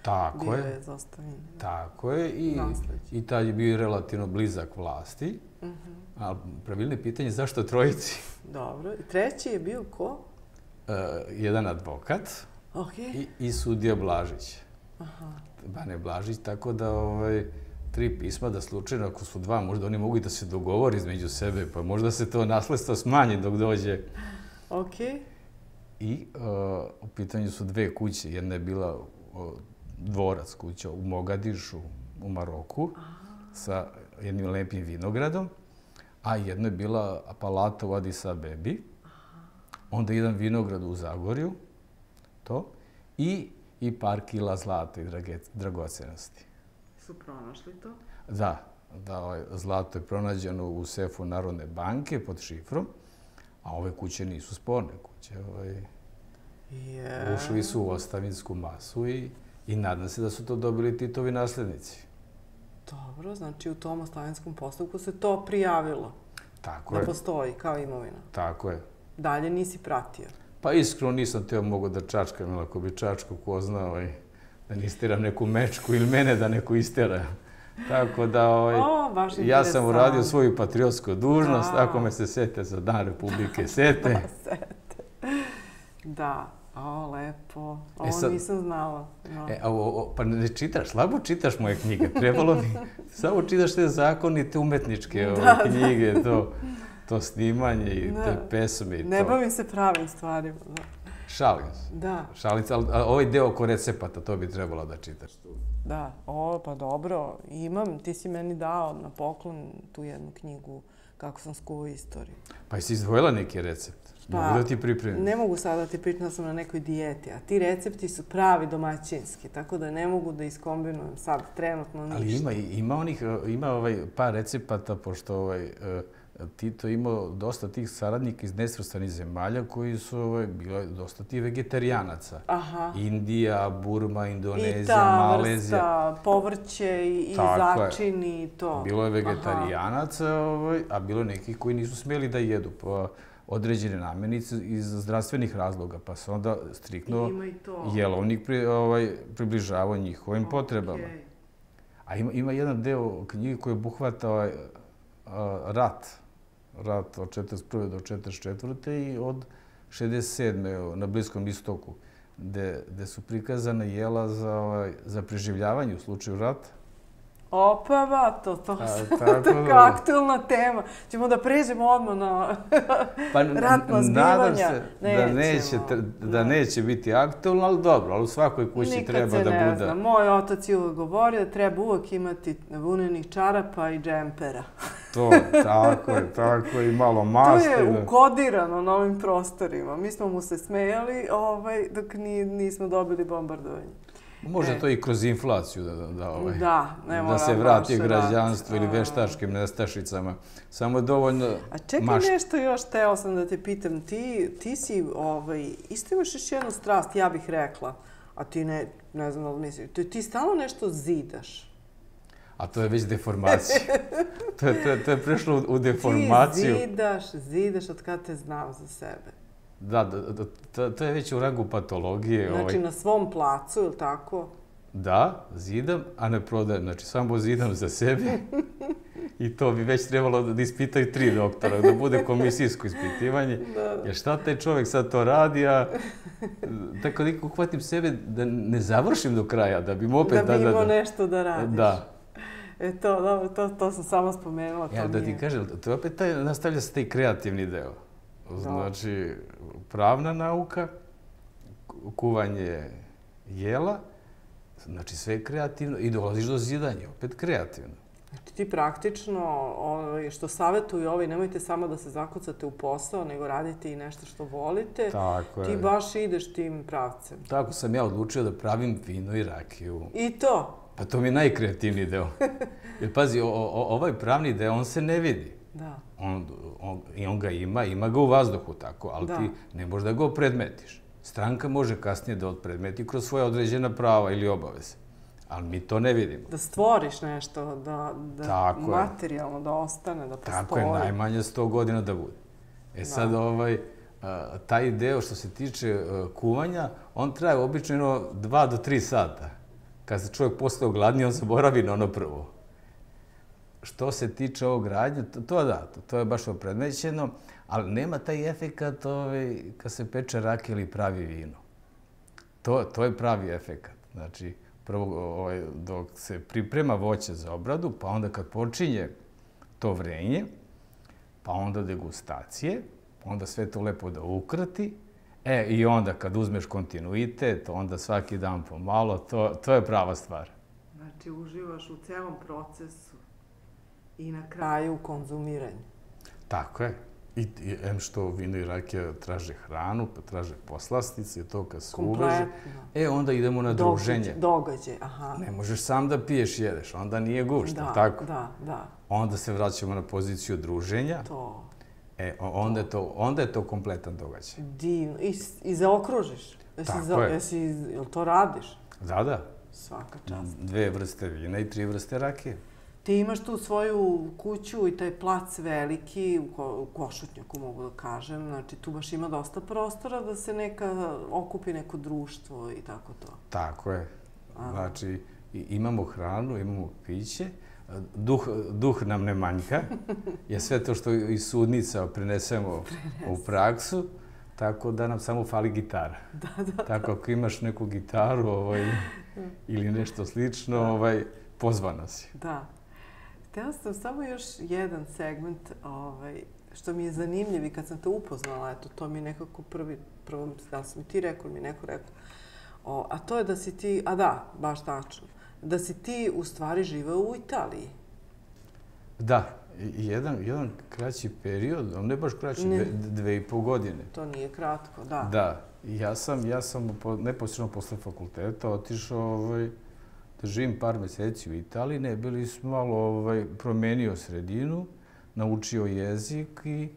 Tako bio je. je za ostavinski. Tako je. I, i tad je bio relativno blizak vlasti. Uh -huh. A pravilno je pitanje zašto trojici? Dobro. I treći je bio ko? Uh, jedan advokat okay. i, i sudija Blažić. Aha. Bane Blažić, tako da ovaj, tri pisma da slučajno, ako su dva, možda oni mogu da se dogovori između sebe, pa možda se to nasledstvo smanji dok dođe. Okej. I u pitanju su dve kuće. Jedna je bila dvorac kuća u Mogadišu, u Maroku, sa jednim lepim vinogradom, a jedna je bila palata u Adis Abebi, onda jedan vinograd u Zagorju, to, i, i par kila zlata i dragocenosti. Su pronašli to? Da, da ovaj, zlato je pronađeno u sefu Narodne banke pod šifrom, a ove kuće nisu sporne kuće. Ovaj, yeah. Ušli su u ostavinsku masu i, i nadam se da su to dobili Titovi naslednici. Dobro, znači u tom ostavinskom postupku se to prijavilo. Tako da je. Da postoji kao imovina. Tako je. Dalje nisi pratio? Pa iskreno nisam teo mogo da čačkam, jer ako bi čačko ko zna, ovaj, da ne isteram neku mečku ili mene da neko istera. Tako da, ovaj, o, baš ja sam uradio svoju patriotsku dužnost, ako me se sete za Dan Republike sete. Da, sete. Da, o, lepo. Ovo e sad, nisam znala. No. E, o, o, pa ne čitaš, slabo čitaš moje knjige. Trebalo mi, samo čitaš te zakonite umetničke ove, da, knjige, da. to, to snimanje i da. Te pesme i ne to. Ne bavim se pravim stvarima. Da. Šalim se. Da. Šalim se, ali ovaj deo oko recepata, to bi trebalo da čitaš. Da, o, pa dobro, imam, ti si meni dao na poklon tu jednu knjigu kako sam skuvao istoriju. Pa jesi izdvojila neki recept? Pa, mogu da ti pripremim? Ne mogu sada da ti pripremim, da sam na nekoj dijeti, a ti recepti su pravi domaćinski, tako da ne mogu da iskombinujem sad trenutno ništa. Ali ima, ima onih, ima ovaj par recepata, pošto ovaj, Tito imao dosta tih saradnika iz nesvrstanih zemalja koji su ovaj, bila dosta tih vegetarijanaca. Aha. Indija, Burma, Indonezija, I ta Malezija. vrsta povrće i, i začini i to. Bilo je vegetarijanaca, ovaj, a bilo je nekih koji nisu smjeli da jedu pa određene namirnice iz zdravstvenih razloga, pa se onda striktno jelovnik pri, ovaj, približavao njihovim okay. potrebama. A ima, ima jedan deo knjige koji obuhvata ovaj, rat. Rat od četrdeset prve do četrdeset četvrte i od šezdeset sedme na Bliskom istoku, gde, gde su prikazana jela za, ovaj, za preživljavanje u slučaju rata. Opa, ba, to, to, A, tako aktualna tema. Ćemo da pređemo odmah na pa, ratna zbivanja. Nadam se da neće, da neće biti aktualno, ali dobro, ali u svakoj kući Nikad treba da bude. Nikad se ne zna. Moj otac je uvek govorio da treba uvek imati vunenih čarapa i džempera. To, tako je, tako je, i malo masti. To je ukodirano na ovim prostorima. Mi smo mu se smejali ovaj, dok ni, nismo dobili bombardovanje. Može e. to i kroz inflaciju da, da, ovaj, da, ne da se vrati građanstvo ili veštačkim nestašicama. Samo je dovoljno A čekaj mašta. Nešto još, teo sam da te pitam. Ti, ti si, ovaj, isto imaš još jednu strast, ja bih rekla, a ti ne, ne znam da li misliš, ti, ti stalno nešto zidaš. A to je već deformacija. to, je, to, je, to je prešlo u, u deformaciju. Ti zidaš, zidaš od kada te znam za sebe. Da, da, to, to je već u rangu patologije. Znači ovaj. na svom placu, ili tako? Da, zidam, a ne prodajem. Znači, samo zidam za sebe. I to bi već trebalo da ispitaju tri doktora, da bude komisijsko ispitivanje. Da. Jer šta taj čovjek sad to radi, a tako da uhvatim sebe da ne završim do kraja, da bi opet... Da bi imao nešto da radiš. Da. E to, da, to, to sam samo spomenula. Ja, da ti kažem, to je opet taj, nastavlja se taj kreativni deo. Znači, pravna nauka, kuvanje jela, znači sve je kreativno i dolaziš do zidanja, opet kreativno. Znači ti praktično, što savjetuju ovi, nemojte samo da se zakucate u posao, nego radite i nešto što volite. Tako je. Ti baš ideš tim pravcem. Tako sam ja odlučio da pravim vino i rakiju. I to? Pa to mi je najkreativniji deo. Jer pazi, o, o, ovaj pravni deo, on se ne vidi. Da. On, on, I on ga ima, ima ga u vazduhu tako, ali da. Ti ne možeš da ga opredmetiš. Stranka može kasnije da odpredmeti kroz svoje određena prava ili obaveze. Ali mi to ne vidimo. Da stvoriš nešto, da, da materijalno da ostane, da postoji. Tako je, najmanje sto godina da bude. E sad, da. ovaj, a, taj deo što se tiče a, kuvanja, on traje obično dva do tri sata. Kad se čovjek postao gladniji, on zaboravi na ono prvo. Što se tiče ovog radnja, to, to da, to, to je baš opredmećeno, ali nema taj efekat ovaj, kad se peče rakija ili pravi vino. To, to je pravi efekat. Znači, prvo ovaj, dok se priprema voće za obradu, pa onda kad počinje to vrenje, pa onda degustacije, onda sve to lepo da ukrati, E, i onda kad uzmeš kontinuitet, onda svaki dan pomalo, to, to je prava stvar. Znači, uživaš u celom procesu i na kraju u konzumiranju. Tako je. I, i em što vino i rakija traže hranu, pa traže poslastice, to kad se uveže. E, onda idemo na druženje. Događaj, aha. Ne možeš sam da piješ, jedeš, onda nije gušta, da, tako? Da, da. Onda se vraćamo na poziciju druženja. To. E, onda je to, onda je to kompletan događaj. Divno. I, i zaokružiš. Jesi Tako za, je. Jesi, jel to radiš? Da, da. Svaka čast. Dve vrste vina i tri vrste rakije. Ti imaš tu svoju kuću i taj plac veliki, u, ko, u Košutnjaku mogu da kažem. Znači, tu baš ima dosta prostora da se neka okupi neko društvo i tako to. Tako je. Aha. Znači, imamo hranu, imamo piće, duh, duh nam ne manjka, je sve to što iz sudnica prenesemo u praksu, tako da nam samo fali gitara. Da, da. Tako, ako imaš neku gitaru ovaj, ili nešto slično, ovaj, pozvana si. Da. Htela sam samo još jedan segment ovaj, što mi je zanimljiv i kad sam te upoznala, eto, to mi je nekako prvi, prvo, da sam mi ti rekao, mi neko rekao, o, a to je da si ti, a da, baš tačno, da si ti u stvari živeo u Italiji. Da, jedan, jedan kraći period, ne baš kraći, dve, dve i pol godine. To nije kratko, da. Da, ja sam, ja sam neposredno posle fakulteta otišao ovaj, da živim par meseci u Italiji, ne, bili smo malo ovaj, promenio sredinu, naučio jezik i,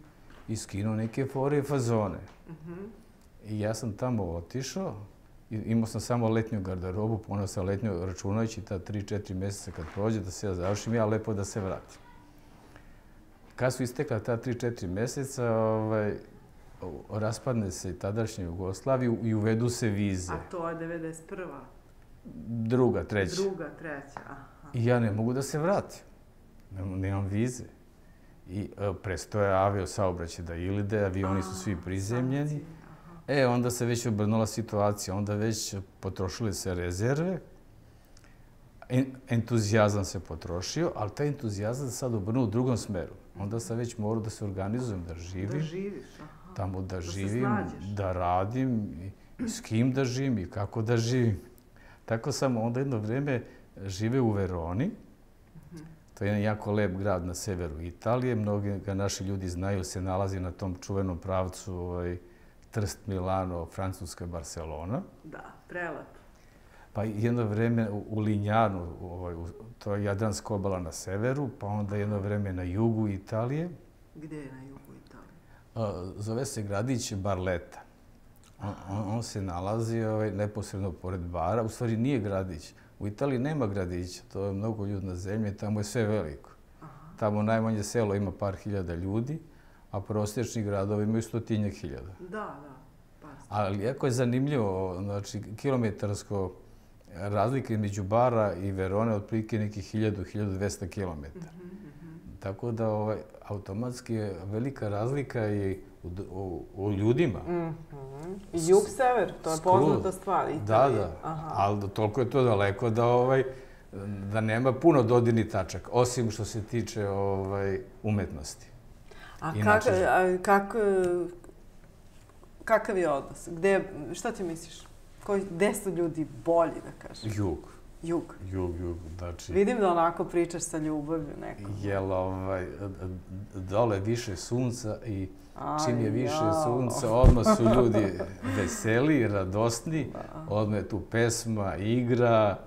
i skinuo neke fore i fazone. Mm-hmm. I ja sam tamo otišao, imao sam samo letnju garderobu, poneo sam letnju računajući ta tri četiri mjeseca kad prođe da se ja završim, ja lepo da se vratim. Kad su istekla ta tri četiri mjeseca, ovaj, raspadne se tadašnja Jugoslavija i uvedu se vize. A to je devedeset prva? Druga, treća. Druga, treća, aha. I ja ne mogu da se vratim. Nemam, nemam vize. I e, prestoje avio saobraćaj da ilide, avioni su svi prizemljeni. E, onda se već obrnula situacija, onda već potrošile se rezerve, entuzijazam se potrošio, ali taj entuzijazam sad obrnuo u drugom smeru. Onda sam već morao da se organizujem, da živim. Da živiš, aha. Tamo da, da živim, da radim, i, i s kim da živim i kako da živim. Tako sam onda jedno vreme živeo u Veroni. To je jedan jako lep grad na severu Italije. Mnogi ga naši ljudi znaju, se nalazi na tom čuvenom pravcu ovaj, Trst, Milano, Francuska, Barcelona. Da, prelep. Pa jedno vreme u Linjanu, ovaj, to je Jadranska obala na severu, pa onda jedno vreme na jugu Italije. Gdje je na jugu Italije? Zove se gradić Barletta. On, on, on se nalazi ovaj, neposredno pored bara. U stvari nije gradić. U Italiji nema gradića, to je mnogo ljudi na zemlji, tamo je sve veliko. Aha. Tamo najmanje selo ima par hiljada ljudi, a prosječni gradovi imaju stotinjak hiljada. Da, da. Par. Ali jako je zanimljivo, znači kilometarsko razlika između Bara i Verone otprilike nekih hiljadu do hiljadu dvesta kilometara. Mm -hmm. Tako da ovaj, automatski je velika razlika i u, u, u ljudima. Mm -hmm. Jug-sever, to je poznata stvar. Italije. Da, da. Aha. Ali toliko je to daleko da, ovaj, da nema puno dodirnih tačaka, osim što se tiče ovaj, umetnosti. A, kak, a kak, kakav je odnos? Gde, šta ti misliš? Koji, gde su ljudi bolji, da kažem? Jug. Jug? Jug, jug. Znači, vidim da onako pričaš sa ljubavlju nekom. Jel, ovaj, dole više sunca i čim je više sunca, odmah su ljudi veseli, radosni, odmah je tu pesma, igra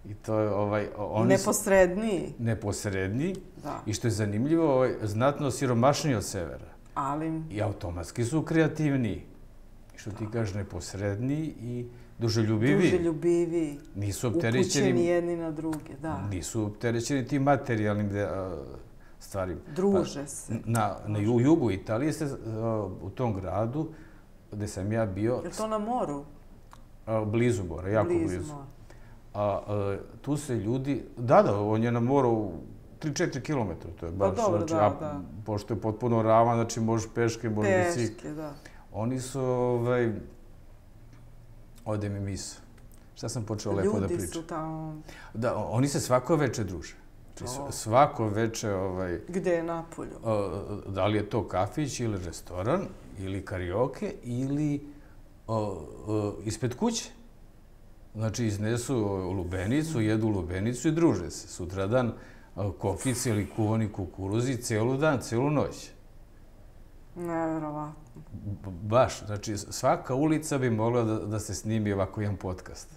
i to je ovaj... Oni neposredniji. Neposredniji. Da. I što je zanimljivo, ovaj, znatno siromašniji od severa. Ali... I automatski su kreativniji. I što ti kažeš, neposredniji i duželjubiviji. Duželjubiviji. Nisu opterećeni... Upućeni jedni na druge, da. Nisu opterećeni tim materijalnim de, a, stvarima. Druže pa, se. Na, na jugu Italije se, a, u tom gradu gde sam ja bio... Je to na moru? A, blizu mora, jako blizu. blizu. Mora. A, a, tu se ljudi... Da, da, on je na moru tri četiri kilometra. To je baš, pa dobro, znači, da, a, da. Pošto je potpuno ravan, znači možeš peške, možeš bicikl. Peške, da. Oni su, ovaj... Ode mi misao. Šta sam počeo lepo da pričam? Ljudi su tamo... Da, oni se svako veče druže. Znači, svako veče... Ovaj, gde je napolju? Da li je to kafić ili restoran, ili karioke, ili ispred kuće. Znači, iznesu lubenicu, jedu lubenicu i druže se. Sutradan kokice ili kuvani kukuruzi celu dan, celu noć. Neverovatno. Baš. Znači, svaka ulica bi mogla da se snimi ovako jedan podcast.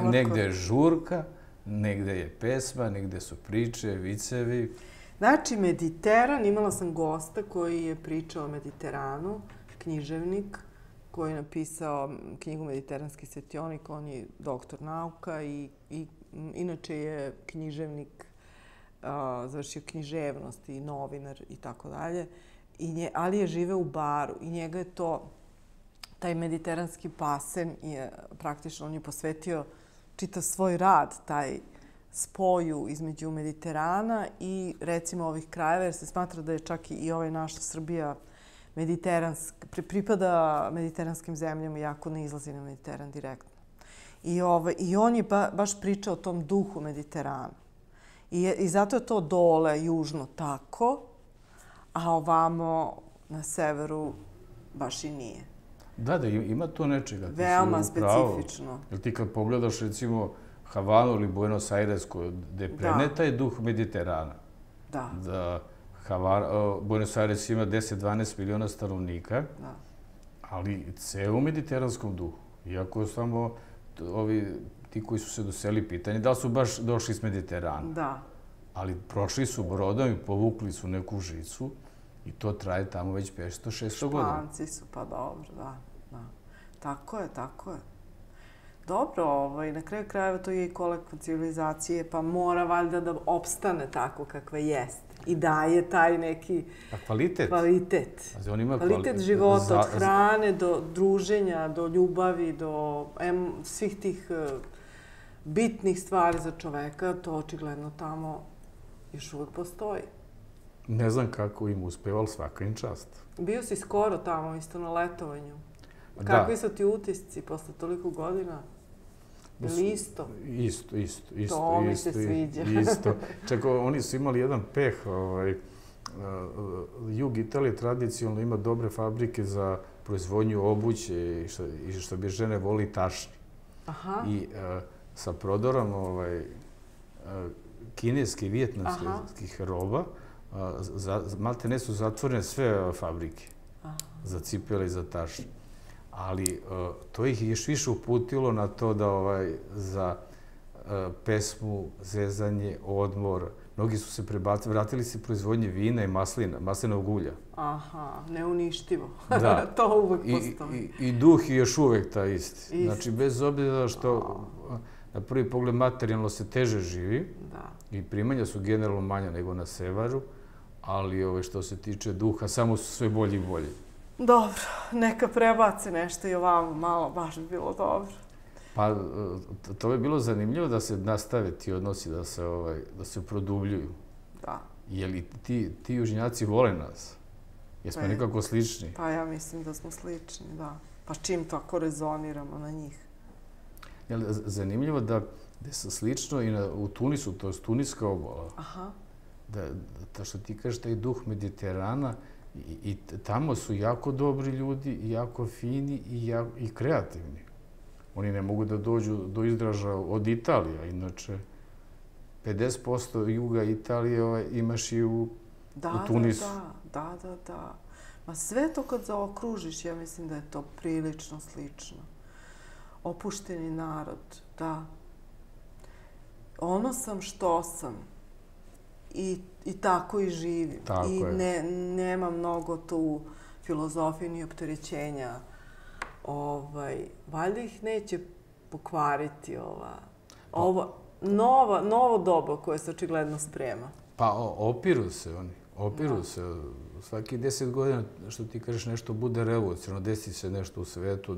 Negde je žurka, negde je pesma, negde su priče, vicevi. Znači, Mediteran, imala sam gosta koji je pričao o Mediteranu, književnik, koji je napisao knjigu Mediteranski svetionik. On je doktor nauka i inače je književnik, završio književnost i novinar i tako dalje. Ali je živeo u Baru i njega je to, taj mediteranski basen, praktično on je posvetio čitav svoj rad, taj spoju između Mediterana i recimo ovih krajeva, jer se smatra da je čak i ovaj naša Srbija mediteranska, pripada mediteranskim zemljama, iako ne izlazi na Mediteran direktno. I on je baš pričao o tom duhu Mediterana. I zato je to dole, južno, tako, a ovamo na severu baš i nije. Da, da, ima to nečega. Veoma specifično. Jer ti kad pogledaš, recimo, Havanu ili Buenos Aires, gde preneta je duh Mediterana. Da. Buenos Aires ima deset do dvanaest miliona stanovnika, ali ceo u mediteranskom duhu. Iako samo ovi, ti koji su se doseli pitanje, da li su baš došli iz Mediterana. Da. Ali prošli su brodom i povukli su neku žicu i to traje tamo već petsto šesto godina. Španci su, pa dobro, da. Tako je, tako je. Dobro, na kraju krajeva to je i kolektiv civilizacije, pa mora valjda da opstane tako kakve jeste. I daje taj neki kvalitet. Kvalitet. Kvalitet života, od hrane do druženja, do ljubavi, do svih tih bitnih stvari za čoveka, to očigledno tamo još uvek postoji. Ne znam kako im uspeva, ali svaka im čast. Bio si skoro tamo, isto na letovanju. Kakvi su ti utisci posle toliko godina? Ili isto? Isto, isto. To mi se sviđa. Isto. Čak, oni su imali jedan peh. Jug Italije tradicionalno ima dobre fabrike za proizvodnju obuće i što bi žene voli tašni. I sa prodorom kineskih, vijetnamskih roba, malte ne su zatvorene sve fabrike za cipele i za tašni. Ali to ih je još više uputilo na to da za pesmu, zezanje, odmor, mnogi su se prebacili, vratili se proizvodnje vina i maslina, maslinovog ulja. Aha, neuništivo. Da. To uvek postoji. I duh je još uvek taj isti. Znači, bez obzira što na prvi pogled materijalno se teže živi i primanja su generalno manja nego na severu, ali što se tiče duha, samo su sve bolji i bolji. Dobro, neka prebaci nešto i ovamo malo, baš bi bilo dobro. Pa, to bi bilo zanimljivo da se nastave ti odnosi, da se produbljuju. Da. Je li ti južnjaci vole nas? Jesmo nekako slični? Pa ja mislim da smo slični, da. Pa čim tako rezoniramo na njih. Zanimljivo da je slično i u Tunisu, to je Tuniska obala. Aha. Da što ti kažeš, taj duh Mediterana, i tamo su jako dobri ljudi, jako fini i kreativni. Oni ne mogu da dođu do izražaja od Italije, inače pedeset posto juga Italije imaš i u Tunisu. Da, da, da, da. Ma sve to kad zaokružiš, ja mislim da je to prilično slično. Opušteni narod, da. Ono sam što sam. I tako i živim. I nema mnogo tu filozofije ni opterećenja. Valjda ih neće pokvariti ova novo doba koje se očigledno sprema. Pa opiru se oni. Opiru se. Svaki deset godina, što ti kažeš, nešto bude revolucionarno, desi se nešto u svetu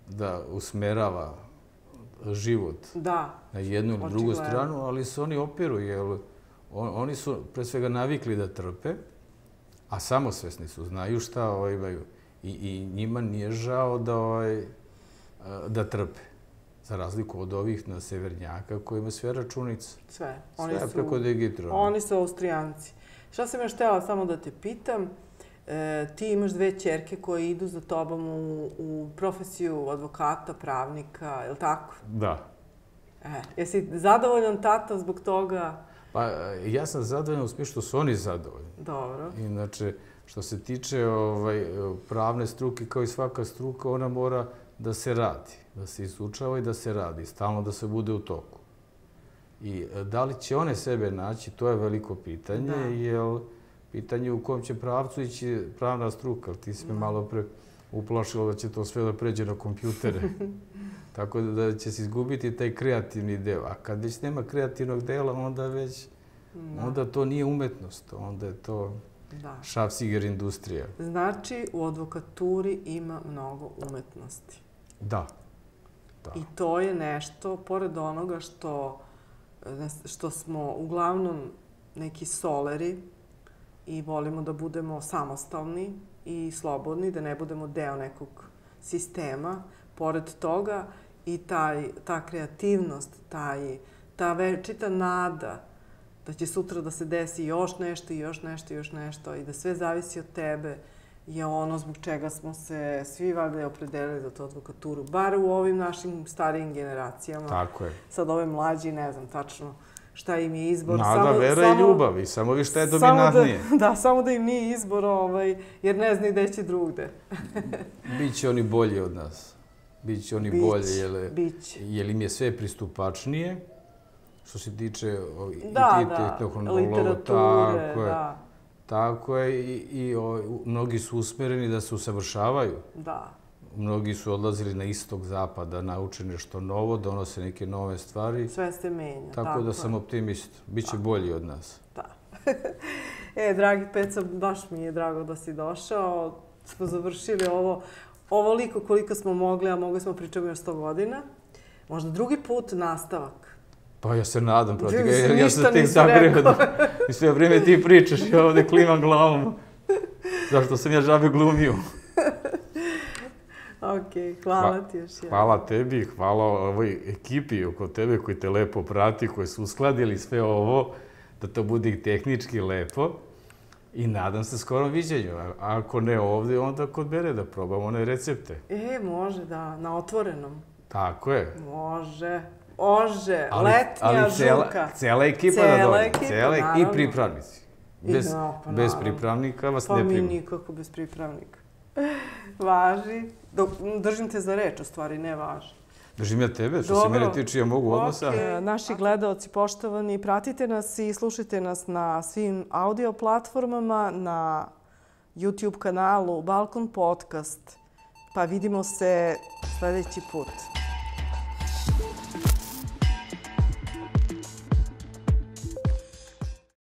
da usmerava život na jednu ili drugu stranu, ali se oni opiru, jer oni su pre svega navikli da trpe, a samosvesni su, znaju šta imaju. I njima nije žao da trpe. Za razliku od ovih na severnjaka koji ima sve računice. Sve. Sve preko digitron. Oni su Austrijanci. Šta sam još htjela samo da te pitam? E, ti imaš dve ćerke koje idu za tobom u, u profesiju advokata, pravnika, je li tako? Da. E, jesi zadovoljan tata zbog toga? Pa ja sam zadovoljan u smislu što su oni zadovoljni. Dobro. Inače, što se tiče ovaj, pravne struke, kao i svaka struka, ona mora da se radi, da se izučava i da se radi, stalno da se bude u toku. I da li će one sebe naći, to je veliko pitanje, da. Jer pitanje u kom će pravcu ići pravna struka. Ti si me malo pre uplašila da će to sve da pređe na kompjutere. Tako da će se izgubiti taj kreativni deo. A kad već nema kreativnog dela, onda već, da. Onda to nije umetnost, onda je to da. Šafciger industrija. Znači, u advokaturi ima mnogo umetnosti. Da. Da. I to je nešto, pored onoga što, što smo uglavnom neki soleri i volimo da budemo samostalni i slobodni, da ne budemo deo nekog sistema, pored toga i taj, ta kreativnost, taj, ta večita nada da će sutra da se desi još nešto i još nešto i još nešto i da sve zavisi od tebe je ono zbog čega smo se svi valjda opredelili za tu advokaturu, bar u ovim našim starijim generacijama. Tako je. Sad ove mlađi, ne znam tačno šta im je izbor. Nada, samo, vera samo, i ljubav i samo vi šta je dominantnije. Da, da, samo da im nije izbor, ovaj, jer ne znaju gde će drugde. Biće oni bolji od nas. Biće oni Bić, bolje, jer, jer im je sve pristupačnije. Što se tiče da, i da, literature, tako je, da. Tako je i, i o, mnogi su usmereni da se usavršavaju. Da. Mnogi su odlazili na istok zapada, nauče nešto novo, donose neke nove stvari. Sve se menja. Tako, tako da sam je. Optimist. Biće bolji od nas. Da. E, dragi Peca, baš mi je drago da si došao. Smo završili ovo ovoliko koliko smo mogli, a mogli smo pričati još sto godina. Možda drugi put nastavak. Pa ja se nadam, protiv. Ja, ja sam tek zagreo da i sve vrijeme ti pričaš i ja ovdje klimam glavom. Zašto sam ja žabe glumio. Ok, hvala ti još jednom. Hvala tebi, hvala ovoj ekipi oko tebe koji te lepo prati, koji su uskladili sve ovo, da to bude i tehnički lepo. I nadam se skorom viđenju. A ako ne ovdje, onda kod mene da probamo one recepte. E, može da, na otvorenom. Tako je. Može. Može, ali, letnja ali cela, žurka. Cela ekipa cela da dođe. Ekipa, cela ekipa i pripravnici. Bez, no, pa bez pripravnika vas pa ne prima. Pa mi nikako bez pripravnika. Važi. Dok, držim te za reč, u stvari, ne važi. Držim ja tebe, što se mene tiče, ja mogu odmah sam. Okay. Naši gledaoci poštovani, pratite nas i slušajte nas na svim audio platformama, na YouTube kanalu Balkon Podcast. Pa vidimo se sljedeći put.